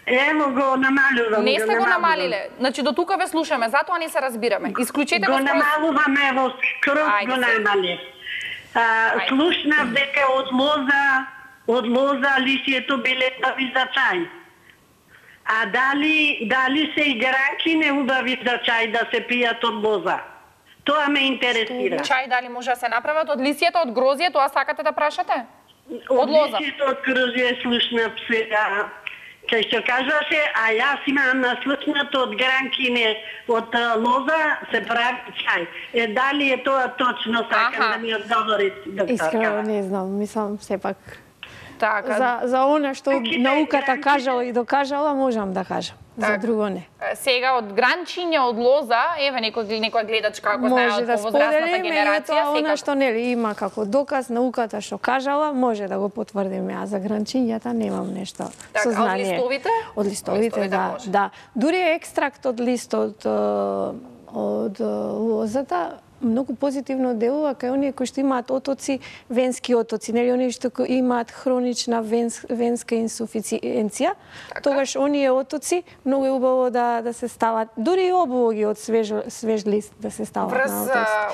Speaker 5: Емо го намалувам.
Speaker 1: Не сте го намалиле. Значи до тука ве слушаме, затоа не се разбираме. Исклучете го.
Speaker 5: Го намалуваме во скроз го намали. Слушнав дека од лоза лисието биле убави за чај. А дали се и гранки не убави за чај да се пијат од лоза? Тоа ме интересира.
Speaker 1: Чај дали може да се направат од лисието, од грозје, тоа сакате да прашате? Од лоза.
Speaker 5: Од лисието, од грозје слушнав сега. Кај што кажаше, а јас имам наслушнато од гранкине, од лоза се прави чај. Дали е тоа точно, сакам да ми одговори, докторка?
Speaker 2: Искрено не знам, мислам сепак.
Speaker 1: Така.
Speaker 2: За она што науката кажала и докажала, можам да кажам. За друго не.
Speaker 1: Сега од гранчиња, од лоза, еве некоја гледачка како знае од повозрастната генерација,
Speaker 2: секако. Она што нели има како доказ науката што кажала, може да го потврдиме, а за гранчињата немам нешто сознание.
Speaker 1: Од листовите?
Speaker 2: Од листовите, да. Дури екстракт од листот од лозата многу позитивно делува кај оние кои што имаат отоци, венски отоци, нели оние што имаат хронична венска инсуфициенција, тогаш оние отоци многу е убаво да се стават, дури и облоги од свеж лист да се стават
Speaker 1: на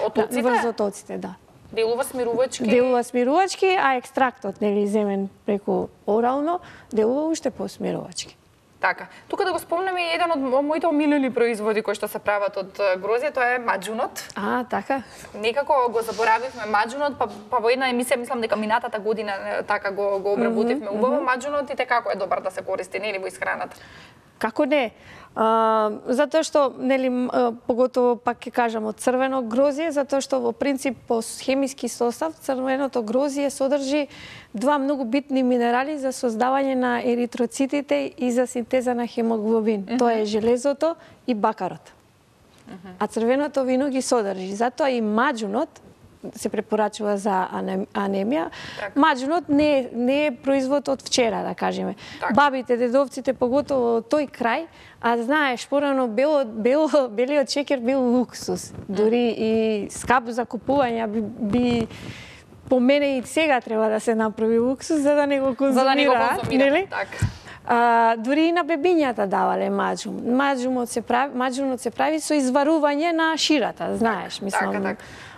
Speaker 1: отоците.
Speaker 2: Врз отоците, да.
Speaker 1: Делува смирувачки.
Speaker 2: Делува смирувачки, а екстрактот нели земен преку орално делува уште посмирувачки.
Speaker 1: Така. Тука да го спомнеме еден од моите омилени производи кои што се прават од грозје, тоа е маџунот.
Speaker 2: Така.
Speaker 1: Некако го заборавивме маџунот, па во една емисија мислам дека минатата година така го обработивме убаво маџунот и како е добар да се користи, нели, во исхраната.
Speaker 2: Како не? Затоа што, нели, поготово пак ќе кажам од црвено грозје, затоа што во принцип по хемиски состав црвеното грозје содржи два многу битни минерали за создавање на еритроцитите и за синтеза на хемоглобин. Тоа е железото и бакарот. А црвеното вино ги содржи. Затоа и маџунот се препорачува за анемија. Маџунот не е производ од вчера, да кажеме. Бабите, дедовците, поготово од тој крај, а знаеш, порано белиот шеќер бил луксус. Дури и скап за купување би по мене и сега треба да се направи луксус за да не го конзумира, нели? Дури и на бебињата давале маџун. Маџунот се прави со изварување на ширата, знаеш, мислам.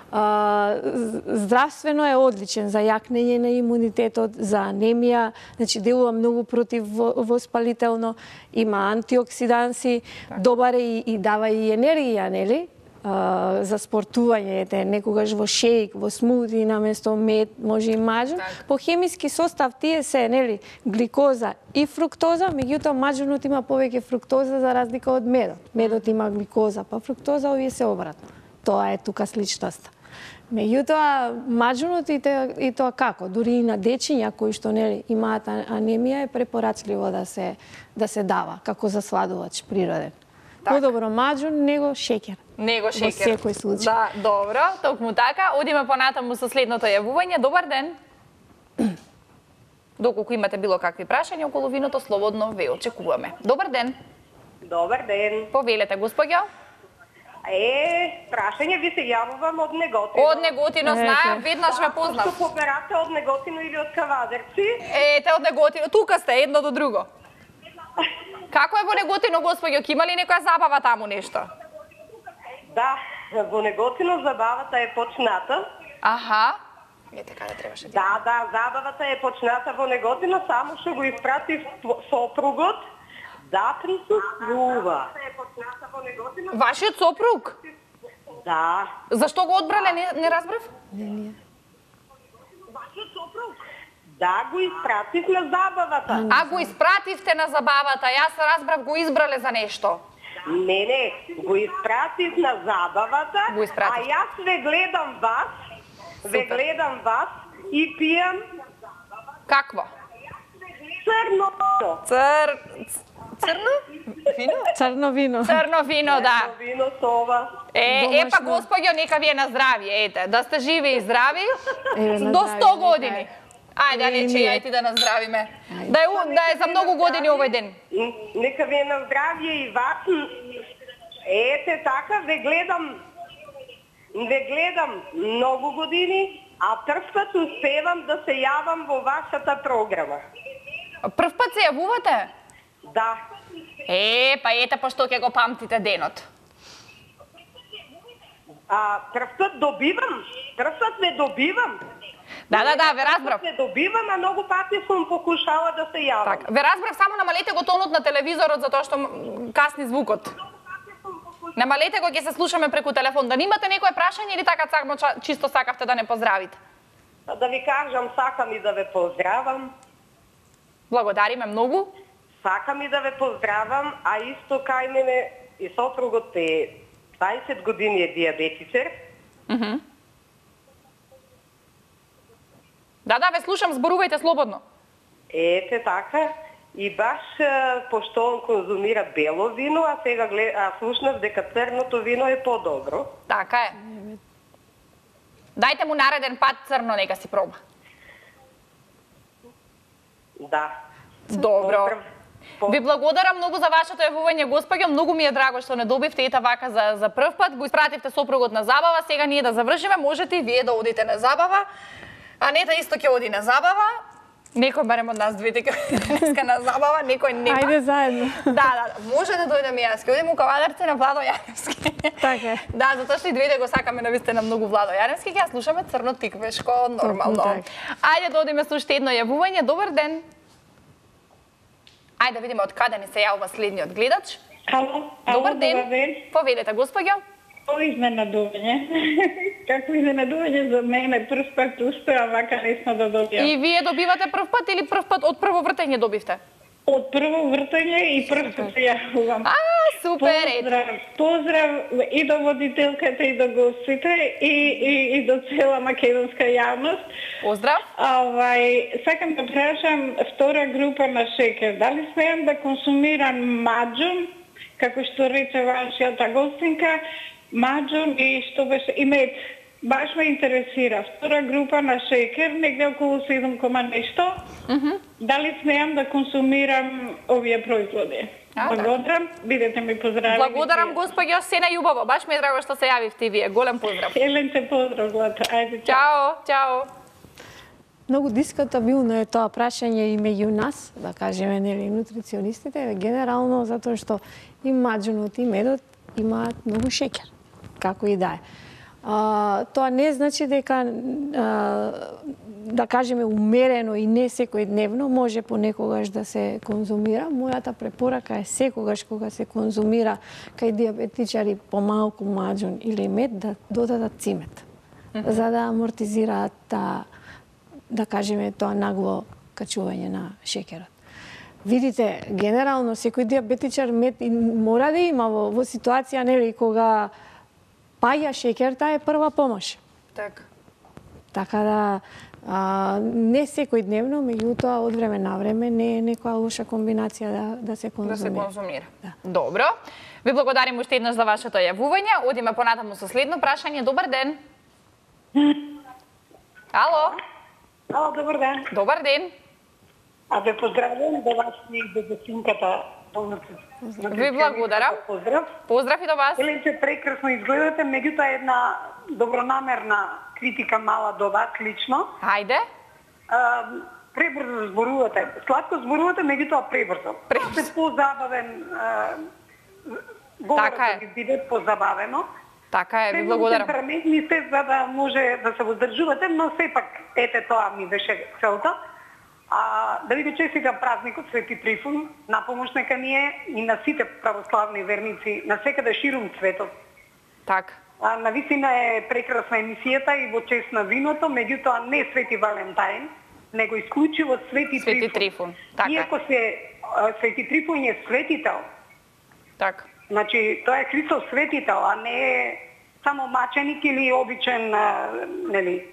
Speaker 2: Здравствено е одличен за јакнење на имунитетот, за анемија, значи делува многу противвоспалително, има антиоксиданси, добар е и дава и енергија, нели? За спортување, некогаш во шејк, во смути, наместо мед, може и маџун. По хемиски состав тие се, нели, гликоза и фруктоза, меѓутоа маџунот има повеќе фруктоза за разлика од медот. Медот има гликоза, па фруктоза, овие се обратно. Тоа е тука сличноста. Меѓутоа, маџунот и тоа како, дури и на дечиња кои што нели имаат анемија е препорачливо да се дава како засладувач природен. Подобро маџун него шеќер.
Speaker 1: Него шеќер.
Speaker 2: Во секој случај.
Speaker 1: Да, добро, токму така. Одиме понатаму со следното јавување. Добар ден. Доколку имате било какви прашања околу виното, слободно ве очекуваме. Добар ден.
Speaker 7: Добар ден.
Speaker 1: Повелете, господја.
Speaker 7: Прашање ви се јавувам од Неготино.
Speaker 1: Од Неготино, знаем, веднаш ве познав.
Speaker 7: Што поберате од Неготино или од Кавадарци?
Speaker 1: Ете, од Неготино, тука сте, едно до друго. Како е во Неготино, господјо, ки има ли некоја забава таму нешто?
Speaker 7: Да, во Неготино забавата е почната.
Speaker 1: Аха. Ете, каде требаше да.
Speaker 7: Да, забавата е почната во Неготино, само што го испратив сопругот да присуствува.
Speaker 1: Вашиот сопруг?
Speaker 7: Да.
Speaker 1: Зашто го одбрале, не разбрав?
Speaker 7: Вашиот сопруг? Да, го испратив на забавата.
Speaker 1: А го испративте на забавата, јас разбрав го избрале за нешто.
Speaker 7: Не, го испратив на забавата, а јас ве гледам вас, и пијам...
Speaker 1: Какво?
Speaker 7: Црно.
Speaker 1: Црно? Вино?
Speaker 2: Црно вино.
Speaker 1: Црно вино, да.
Speaker 7: Црно вино сова.
Speaker 1: Па господјо, нека ви е на здравје, ете, да сте живи и здрави до 100 години. Ајде, Анече, ја и ти да наздравиме. Да е за многу години овој ден.
Speaker 7: Нека ви е на здравје и вас. Ете, така, ве гледам многу години, а прв пат успевам да се јавам во вашата програма.
Speaker 1: Прв пат се јавувате?
Speaker 7: Да.
Speaker 1: Па ете, пошто ќе го памтите денот.
Speaker 7: Прв пат ве добивам.
Speaker 1: Да, ве разбрав.
Speaker 7: Ве добивам, а многу пати сум покушала да се јавам.
Speaker 1: Так, ве разбрав, само намалете го тонот на телевизорот затоа што касни звукот. Намалете го, ќе се слушаме преку телефон. Да немате некое прашање или така само чисто сакавте да не поздравите?
Speaker 7: Да ви кажам, сакам и да ве поздравам.
Speaker 1: Благодариме многу.
Speaker 7: Сакам и да ве поздравам, а исто кај мене и сопругот е 20 години е диабетичар.
Speaker 1: Да, ве слушам, зборувајте слободно.
Speaker 7: Ете така, и баш пошто он конзумира бело вино, а сега слушнав дека црното вино е подобро.
Speaker 1: Така е. Дајте му нареден пат црно, нека си проба.
Speaker 7: Да.
Speaker 1: Добро. Ви благодарам многу за вашето јавување, господјо. Многу ми е драго што не добивте ета вака за прв пат. Го испративте сопругот на забава. Сега ние да завршиме. Можете и вие да одите на забава. Анета исто ќе оди на забава. Некој барем од нас двете ќе денеска на забава, некој нема.
Speaker 2: Ајде заедно.
Speaker 1: Да, може да дојдем и јас. Ќе одиме у Кавадарци на Владо Јаневски.
Speaker 2: Така е.
Speaker 1: Да, затоа што и двете го сакаме навистина многу Владо Јаневски, ќе слушаме Црно тиквешко, нормално. Ајде да одиме со уште едно јавување. Добар ден. Ајде да видиме од каде ни се јавува следниот гледач.
Speaker 8: Ало,
Speaker 1: добар ден. Повелете, господјо.
Speaker 8: Изненадување. Како изненадување за мене, прв пат успеам вака лесно да добијам.
Speaker 1: И вие добивате прв пат или прв пат од прво вртење добивте?
Speaker 8: Од прво вртење и прв пат се јавувам.
Speaker 1: Супер!
Speaker 8: Поздрав и до водителката и до гостите и до цела македонска јавност.
Speaker 1: Поздрав!
Speaker 8: Сакам да прашам втора група на шекер. Дали смеам да консумирам маџун, како што рече вашијата гостинка, маџун и што беше и мед. Баш ме интересира. Втора група на шекер, негде околу 7, нешто. Дали смеам да консумирам овие производи? Благодарам, бидете ми поздрави.
Speaker 1: Благодарам, господјо, се најубаво. Баш ми е драго што се јавивте и вие. Голем поздрав.
Speaker 8: Еленце поздрав, Злата. Ајде,
Speaker 1: чао.
Speaker 2: Многу дискутабилно е тоа прашање и меѓу нас, да кажеме, нели, нутриционистите, генерално затоа што и маџунот и медот имаат многу шеќер, како и да е. Тоа не значи дека, да кажеме, умерено и не секојдневно може понекогаш да се конзумира. Мојата препорака е секогаш кога се конзумира кај диабетичари помалку маџун или мед да додадат цимет, за да амортизираат да кажеме тоа нагло качување на шеќерот. Видите, генерално секој диабетичар мед мора да има во ситуација, нели, кога паѓа шеќер, таа е прва помош. Така да не секојдневно, меѓутоа од време на време не е некоја лоша комбинација да се конзумира.
Speaker 1: Добро. Ви благодарим уште еднаш за вашето јавување. Одиме понатаму со следно прашање. Добар ден. Ало.
Speaker 8: Ало, добар ден.
Speaker 1: Добар ден.
Speaker 8: Ве поздравувам до вас и до гостинката
Speaker 1: Ви благодарам.
Speaker 4: Поздрав.
Speaker 1: Поздрав и до вас.
Speaker 4: Еленче, прекрасно изгледате, меѓутоа една добронамерна критика мала до вас лично.
Speaker 1: Хајде.
Speaker 4: Пребрзо зборувате. Сладко зборувате, меѓутоа пребрзо. Се позабавен говорот да ви биде позабавено.
Speaker 1: Така е, ви благодарам.
Speaker 4: Темпераментни сте за да може да се воздржувате, но сепак ете тоа ми беше целта. Да ви го честитам празникот Свети Трифун, на помош нека ни е и на сите православни верници на секаде ширум светот.
Speaker 1: Така.
Speaker 4: Навистина е прекрасна емисијата и во чест на виното, меѓутоа не Свети Валентајн, него исклучиво Свети
Speaker 1: Трифун. Така.
Speaker 4: Иако Свети Трифун е светител.
Speaker 1: Така.
Speaker 4: Значи, тоа е Христос светител, а не е само маченик или обичен, нели,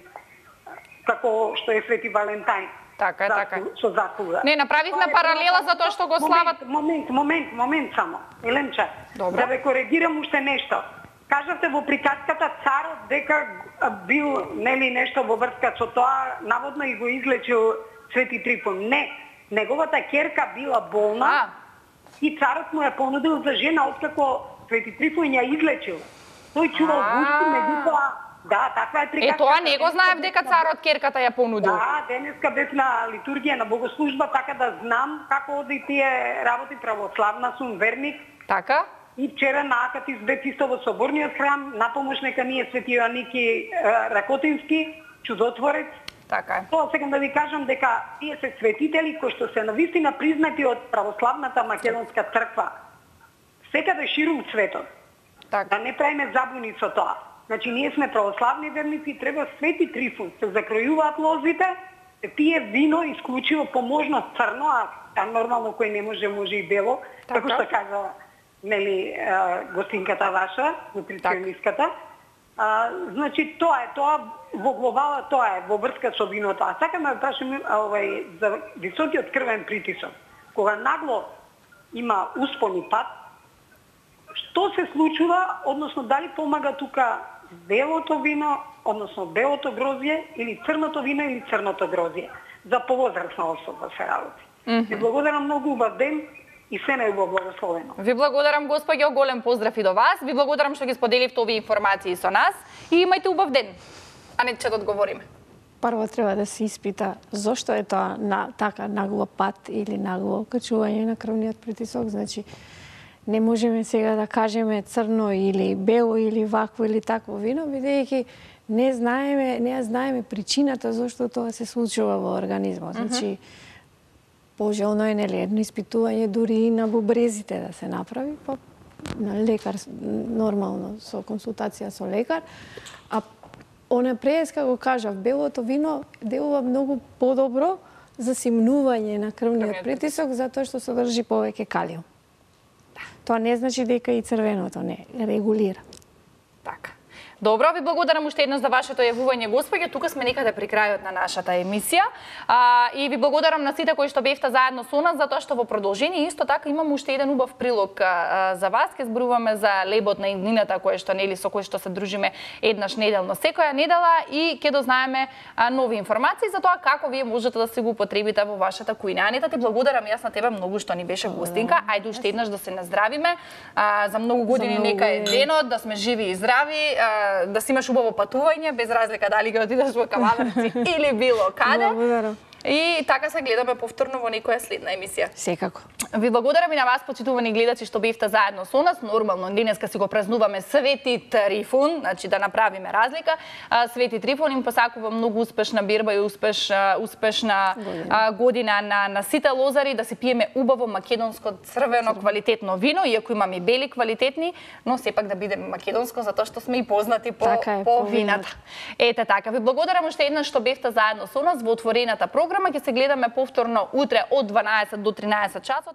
Speaker 4: како што е Свети Валентајн.
Speaker 1: Така е, така.
Speaker 4: Со заслуга.
Speaker 1: Не, направивме паралела за тоа што го слават.
Speaker 4: Момент само. Еленче, да ве коригирам уште нешто. Кажавте во приказката царот дека бил, нели, нешто во врска со тоа, наводно и го излечил Свети Трифун. Не, неговата ќерка била болна. И царот му ја понудил за жена, откако Свети Трифун ја излечил. Тој чувал гушти, меѓутоа, да, таква е приказка.
Speaker 1: Тоа не го знаев дека царот ќерката ја понудил.
Speaker 4: Да, денеска бев на литургија, на богослужба, така да знам како оди тие работи, православна сум верник.
Speaker 1: Така?
Speaker 4: И вчера на Акатис бев исто во соборниот храм, на помош нека ни е Свети Јоаники Ракотински, чудотворец.
Speaker 1: Така е.
Speaker 4: Тоа сакам да ви кажам дека тие се светители кои што се навистина признати од православната македонска црква. Секаде ширум светот.
Speaker 1: Така.
Speaker 4: Да не правиме забуни со тоа. Значи, ние сме православни верници, треба Свети Трифун, се закројуваат лозите, се пие вино исклучиво поможно црно, а нормално кој не може и бело, како што кажа, нели, гостинката ваша, нутриционистката. Значи, тоа во глобала, тоа е во врска со виното. А сакам да прашам за високиот крвен притисок. Кога нагло има успон и пад, што се случува, односно дали помага тука белото вино, односно белото грозје, или црното вино, или црното грозје? За повозрасна особа се работи. Ви благодарам многу, убав ден и се најубаво благословено.
Speaker 1: Ви благодарам, господјо, голем поздрав и до вас. Ви благодарам што ги споделивте овие информации со нас и имајте убав ден. А не ќе да одговориме.
Speaker 2: Прво треба да се испита зошто е тоа така нагло пат или нагло качување на крвниот притисок. Значи, не можеме сега да кажеме црно или бело или вакво или такво вино, бидејќи не знаеме причината зошто тоа се случува во организмот. Значи, пожелно е, нели, едно испитување дури и на бубрезите да се направи, па на лекар, нормално, со консултација со лекар. А онапред, како кажав, белото вино делува многу подобро за симнување на крвниот притисок, затоа што содржи повеќе калиум. Тоа не значи дека и црвеното не регулира.
Speaker 1: Така. Добро, ви благодарам уште еднаш за вашето јавување, господје. Тука сме некаде при крајот на нашата емисија. И ви благодарам на сите кои што бевте заедно со нас, затоа што во продолжение исто така имам уште еден убав прилог за вас. Ке зборуваме за лебот на иднината со кој што се дружиме еднаш неделно секоја недела и ќе дознаеме нови информации за тоа како вие можете да се го употребите во вашата кујна. Анета, ти благодарам јас на тебе многу што ни беше гостинка. Ајде уште еднаш да се наздравиме. За многу години нека е денот, да сме живи и здрави. Да си имаш убаво патување, без разлика дали ќе отидеш во Кавадарци или било каде.
Speaker 2: Благодарам.
Speaker 1: И така се гледаме повторно во некоја следна емисија.
Speaker 2: Секако.
Speaker 1: Ви благодарам и на вас, почитувани гледачи, што бевте заедно со нас. Нормално, денеска си го празнуваме Свети Трифун, значи да направиме разлика. Свети Трифун им посакувам многу успешна бирба и успешна година на сите лозари, да се пиеме убаво македонско црвено квалитетно вино, иако имаме и бели квалитетни, но сепак да биде македонско, затоа што сме и познати по вината. Ете така, ви благодарам уште еднаш што бевте заедно со нас во отворената програма. Ќе се гледаме повторно утре од 12 до 13 часот.